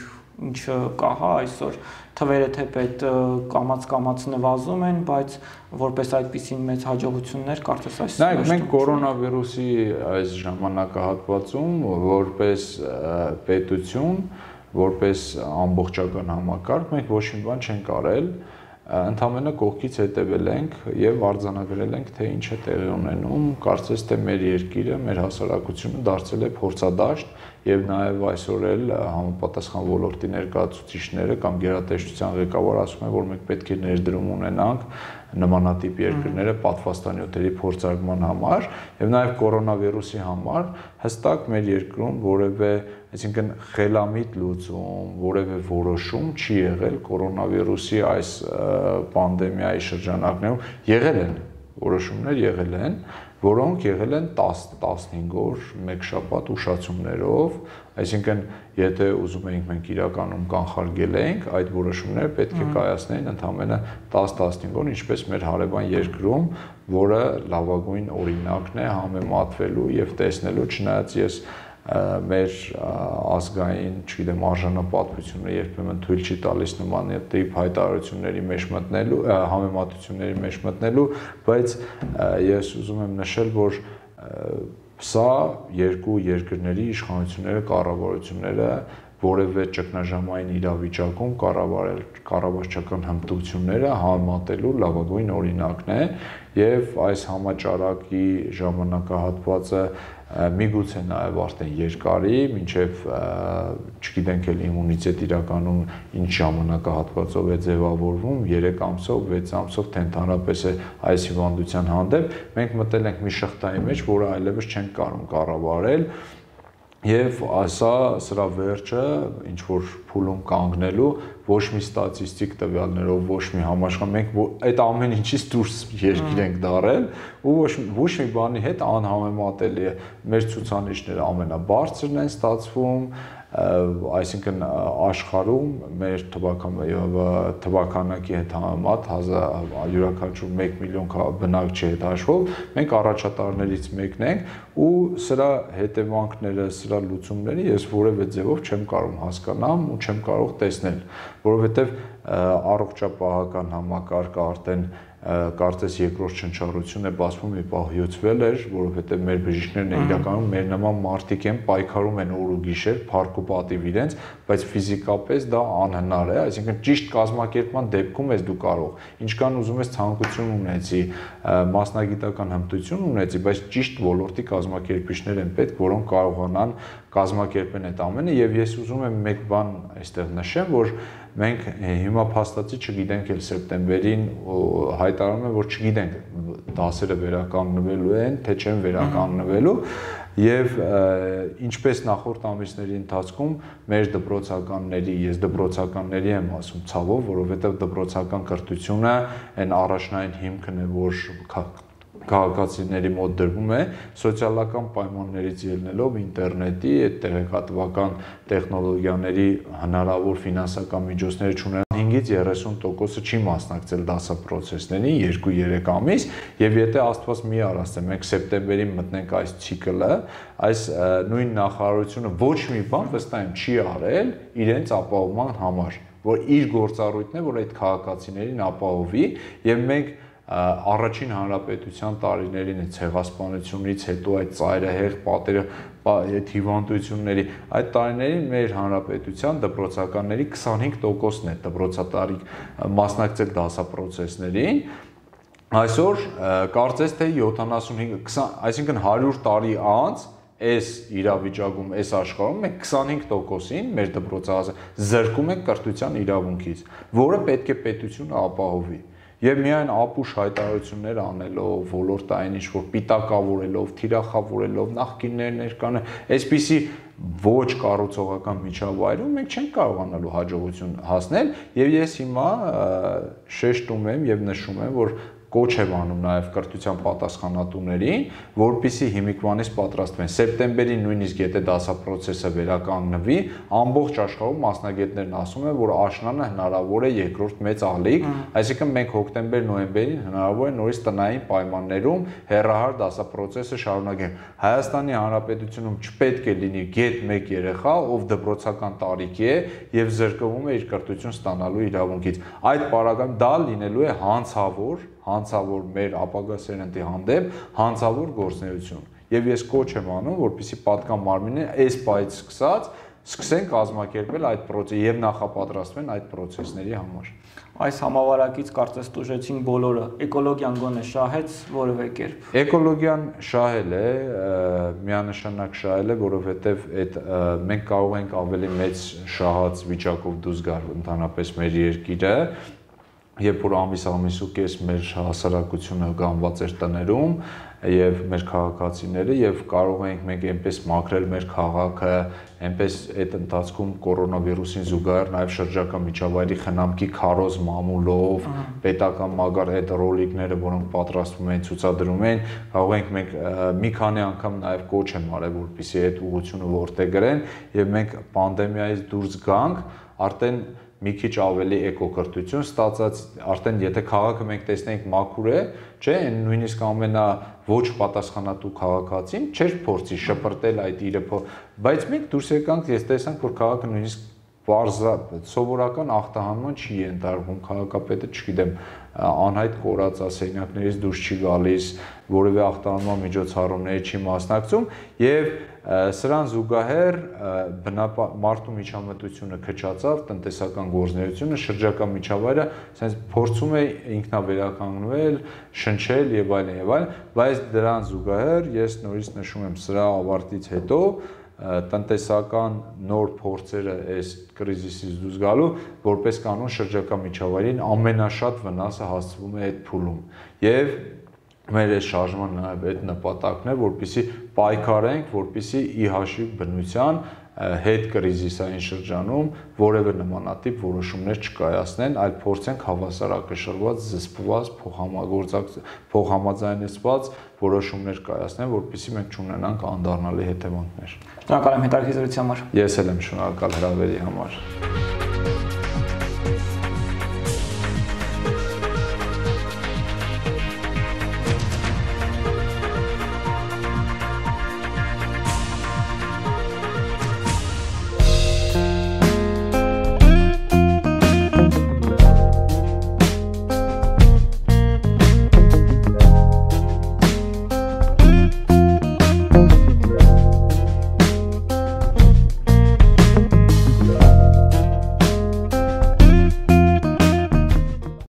ինչը կա, հա, այսօր թվերը թեպետ կամաց-կամաց նվազում են, բայց որպես այդպիսին մեծ հաջողություններ կարծես այս։ Նայեք, մենք կորոնավիրուսի այս ժամանակահատվածում որպես պետություն, որպես ամբողջական համակարգ մենք ոչ մի բան չենք արել, ընդամենը կողքից հետևել ենք եւ արձանագրել ենք, թե ինչ է տեղի ունենում, կարծես թե մեր երկիրը, մեր հասարակությունը դարձել է փորձադաշտ եւ նաեւ այսօր էլ համապատասխան ոլորտի ներկայացուցիչները կամ գերատեսչության ղեկավարը ասում են, որ մենք պետք է ներդրում ունենանք նմանատիպ երկրները պատվաստանյութերի փորձարկման համար եւ նաեւ կորոնավիրուսի համար հստակ մեր երկրում որևէ, այսինքն խելամիտ լուծում, որևէ որոշում չի եղել կորոնավիրուսի այս պանդեմիայի շրջանակներում, եղել են որոշումներ եղել են, որոնք եղել են տասնհինգ օր, մեկ շաբաթ ուշացումներով, այսինքն եթե ուզում էինք մենք իրականում կանխարգել էինք, այդ որոշումները պետք է կայացնեին ընդամենը տասը-տասնհինգ օր, ինչպես մեր հարևան երկրում, որը լավագույն օրինակն է համեմատվելու եւ տեսնելու, չնայած ես մեր ազգային, չգիտեմ, արժանապատվությունը երբեմն թույլ չի տալիս նմանատիպ հայտարարությունների մեջ մտնելու, համեմատությունների մեջ մտնելու, բայց ես ուզում եմ նշել, որ սա երկու երկրների իշխանությունները, կառավարությունները որևէ ճգնաժամային իրավիճակում կառավարել կառավարչական հմտությունները համատելու լավագույն օրինակն է եւ այս համաճարակի ժամանակահատվածը միգուցե նաեւ արդեն երկարի, մինչեւ չգիտենք էլ իմունիտետ իրականում ինչ ժամանակահատվածով է ձևավորվում, երեք ամսով, վեց ամսով, թե ընդհանրապես է այս հիվանդության հանդեպ, մենք մտել ենք մի շղթայի մեջ, որը այլևս չենք կարող կառավարել Եվ այսա սրա վերջը ինչ որ փուլում կանգնելու ոչ մի ստատիստիկ տվյալներով, ոչ մի համաշխարհ մենք այդ ամեն ինչից դուրս երկիր ենք դարել ու ոչ ոչ մի բանի հետ անհամեմատելի է։ Մեր ցուցանիշները ամենաբարձրն են ստացվում, այսինքն աշխարհում մեր թվականակի հետ համեմատ յուրաքանչյուր մեկ միլիոն բնակչի հետ հաշվով մենք առաջատարներից մեկն ենք ու սրա հետևանքները, սրա լուծումները ես որևէ ձևով չեմ կարող հասկանամ ու չեմ կարող տեսնել, որովհետև առողջապահական համակարգը արդեն կարծես երկրորդ շնչառություն է բացվում մի պահյուցվել էր, որովհետև մեր բժիշկներն իրականում մեր նման մարդիկ են պայքարում են օր ու գիշեր, փառք ու պատիվ իրենց, բայց ֆիզիկապես դա անհնար է, այսինքն ճիշտ կազմակերպման դեպքում ես դու կարող, ինչքան ուզում ես ցանկություն ունեցի, մասնագիտական հմտություն ունեցի, բայց ճիշտ ոլորտի կազմակերպիչներ են պետք, որոնք կարողանան կազմակերպեն այդ ամենը եւ ես ուզում եմ մեկ բան այստեղ նշեմ, որ մենք հիմա փաստացի չգիտենք էլ սեպտեմբերին հայտարարում են, որ չգիտենք դասերը վերականգնվելու են, թե չեն վերականգնվելու եւ ինչպես նախորդ ամիսների ընթացքում մեր դպրոցականների, ես դպրոցականների եմ ասում ցավով, որովհետեւ դպրոցական կրթությունը այն առաջնային հիմքն է, որ քաղաքացիների մոտ դրվում է սոցիալական պայմաններից ելնելով ինտերնետի, այդ տեղեկատվական տեխնոլոգիաների հնարավոր ֆինանսական միջոցները չունենալու հինգից երեսուն տոկոսը չի մասնակցել դասապրոցեսներին երկու-երեք ամիս եւ եթե Աստված մի արասցե մենք սեպտեմբերին մտնենք այս ցիկլը, այս նույն նախարարությունը ոչ մի բան վստահ եմ չի արել իրենց ապահովման համար, որ իր գործառույթն է, որ այդ քաղաքացիներին ապահովի եւ մենք առաջին հանրապետության տարիներին այդ ցեղասպանությունից հետո այդ ծայրահեղ պատերը այդ հիվանդությունների այդ տարիներին մեր հանրապետության դպրոցականների քսանհինգ տոկոսն է դպրոցատարի մասնակցել դասապրոցեսներին այսօր կարծես թե յոթանասունհինգ այսինքն հարյուր տարի անց այս իրավիճակում այս աշխարհում մենք քսանհինգ տոկոսին մեր դպրոցահասակ զրկում ենք կրթության իրավունքից, որը պետք է պետությունը ապահովի Եվ միայն ապուշ հայտարարություններ անելով, ոլորտային ինչ-որ պիտակավորելով, թիրախավորելով, նախկիններ ներկանել, այսպիսի ոչ կառուցողական միջավայրում մենք չենք կարողանալու հաջողություն հասնել եւ ես հիմա շեշտում եմ եւ նշում եմ, որ կոչ եմ անում նաև կրթության պատասխանատուներին, որպեսզի հիմիկվանից պատրաստվեն։ Սեպտեմբերին նույնիսկ եթե դասապրոցեսը վերականգնվի, ամբողջ աշխարհում մասնագետներն ասում են, որ աշնանը հնարավոր է երկրորդ մեծ ալիք, այսինքն մենք հոկտեմբեր-նոյեմբերին հնարավոր է նորից տնային պայմաններում հեռահար դասապրոցեսը շարունակենք։ Հայաստանի Հանրապետությունում չպետք է լինի գետ մեկ երեխա, ով դպրոցական տարիքի է եւ զրկվում է իր կրթություն ստանալու իրավունքից։ Այդ պարագայում դա լինելու է հանցավոր հանցավոր մեր ապագա սերնդի հանդեպ հանցավոր գործունեություն եւ ես կոչ եմ անում որպեսզի պատկան մարմինները այս պայից սկսած սկսեն կազմակերպել այդ process եւ նախապատրաստվեն այդ process-ների համար այս համավարակից կարծես տուժեցին բոլորը էկոլոգիան գոնե շահեց որևէ կերպ էկոլոգիան շահել է միանշանակ շահել է որովհետեւ այդ մենք կարող ենք ավելի մեծ շահած վիճակով դուրս գալ ընդհանրապես մեր երկիրը Երբ որ ամիս ամիս ու կես մեր հասարակությունը գանված էր տներում եւ մեր քաղաքացիները եւ կարող ենք մենք այնպես մաքրել մեր քաղաքը, այնպես այդ ընթացքում կորոնավիրուսին զուգահեռ նաեւ շրջակա միջավայրի խնամքի քարոզ մամուլով, պետական մագար այդ ռոլիկները, որոնք պատրաստվում են, ցուցադրում են, կարող ենք մենք մի քանի անգամ նաեւ կոչ եմ արել, որպեսզի այդ ուղղությունը որտեղ գրեն եւ մենք պանդեմիայից դուրս գանք, արդեն մի քիչ ավելի էկոկրթություն ստացած արդեն եթե քաղաքը մենք տեսնենք մաքուր է, չէ, այն նույնիսկ ամենա ոչ պատասխանատու քաղաքացին չէր փորձի շպրտել այդ իրը, բայց մենք դուրս եկանք, ես տեսանք, որ քաղաքը նույնիսկ բարձր սովորական ախտահանման չի ենթարկվում, քաղաքապետը, չգիտեմ, անհայտ կորած ասենյակներից դուրս չի գալիս, որևէ ախտահանման միջոցառումների չի մասնակցում եւ սրան զուգահեռ մարդու միջամտությունը քչացավ, տնտեսական գործունեությունը, շրջակա միջավայրը, ասես փորձում է ինքնավերականգնվել, շնչել եւ այլն եւ այլն, բայց դրան զուգահեռ ես նորից նշում եմ սրա ավարտից հետո տնտեսական նոր փորձերը այս կրիզիսից դուրս գալու որպես կանոն շրջակա միջավայրին ամենաշատ վնասը հասցվում է այդ փուլում եւ մեր այս շարժման նաև այդ նպատակն է, որպեսզի պայքարենք, որպեսզի ի հաշիվ բնության հետ կրիզիսային շրջանում որևէ նմանատիպ որոշումներ չկայացնեն, այլ փորձենք հավասարակշռված, զսպված, փոխհամաձայնեցված որոշումներ կայացնեն, որպեսզի մենք չունենանք անդառնալի հետևանքներ։ Շնորհակալ եմ հետաքրքիր զրույցի համար։ Ես էլ եմ շնորհակալ հրավերի համար։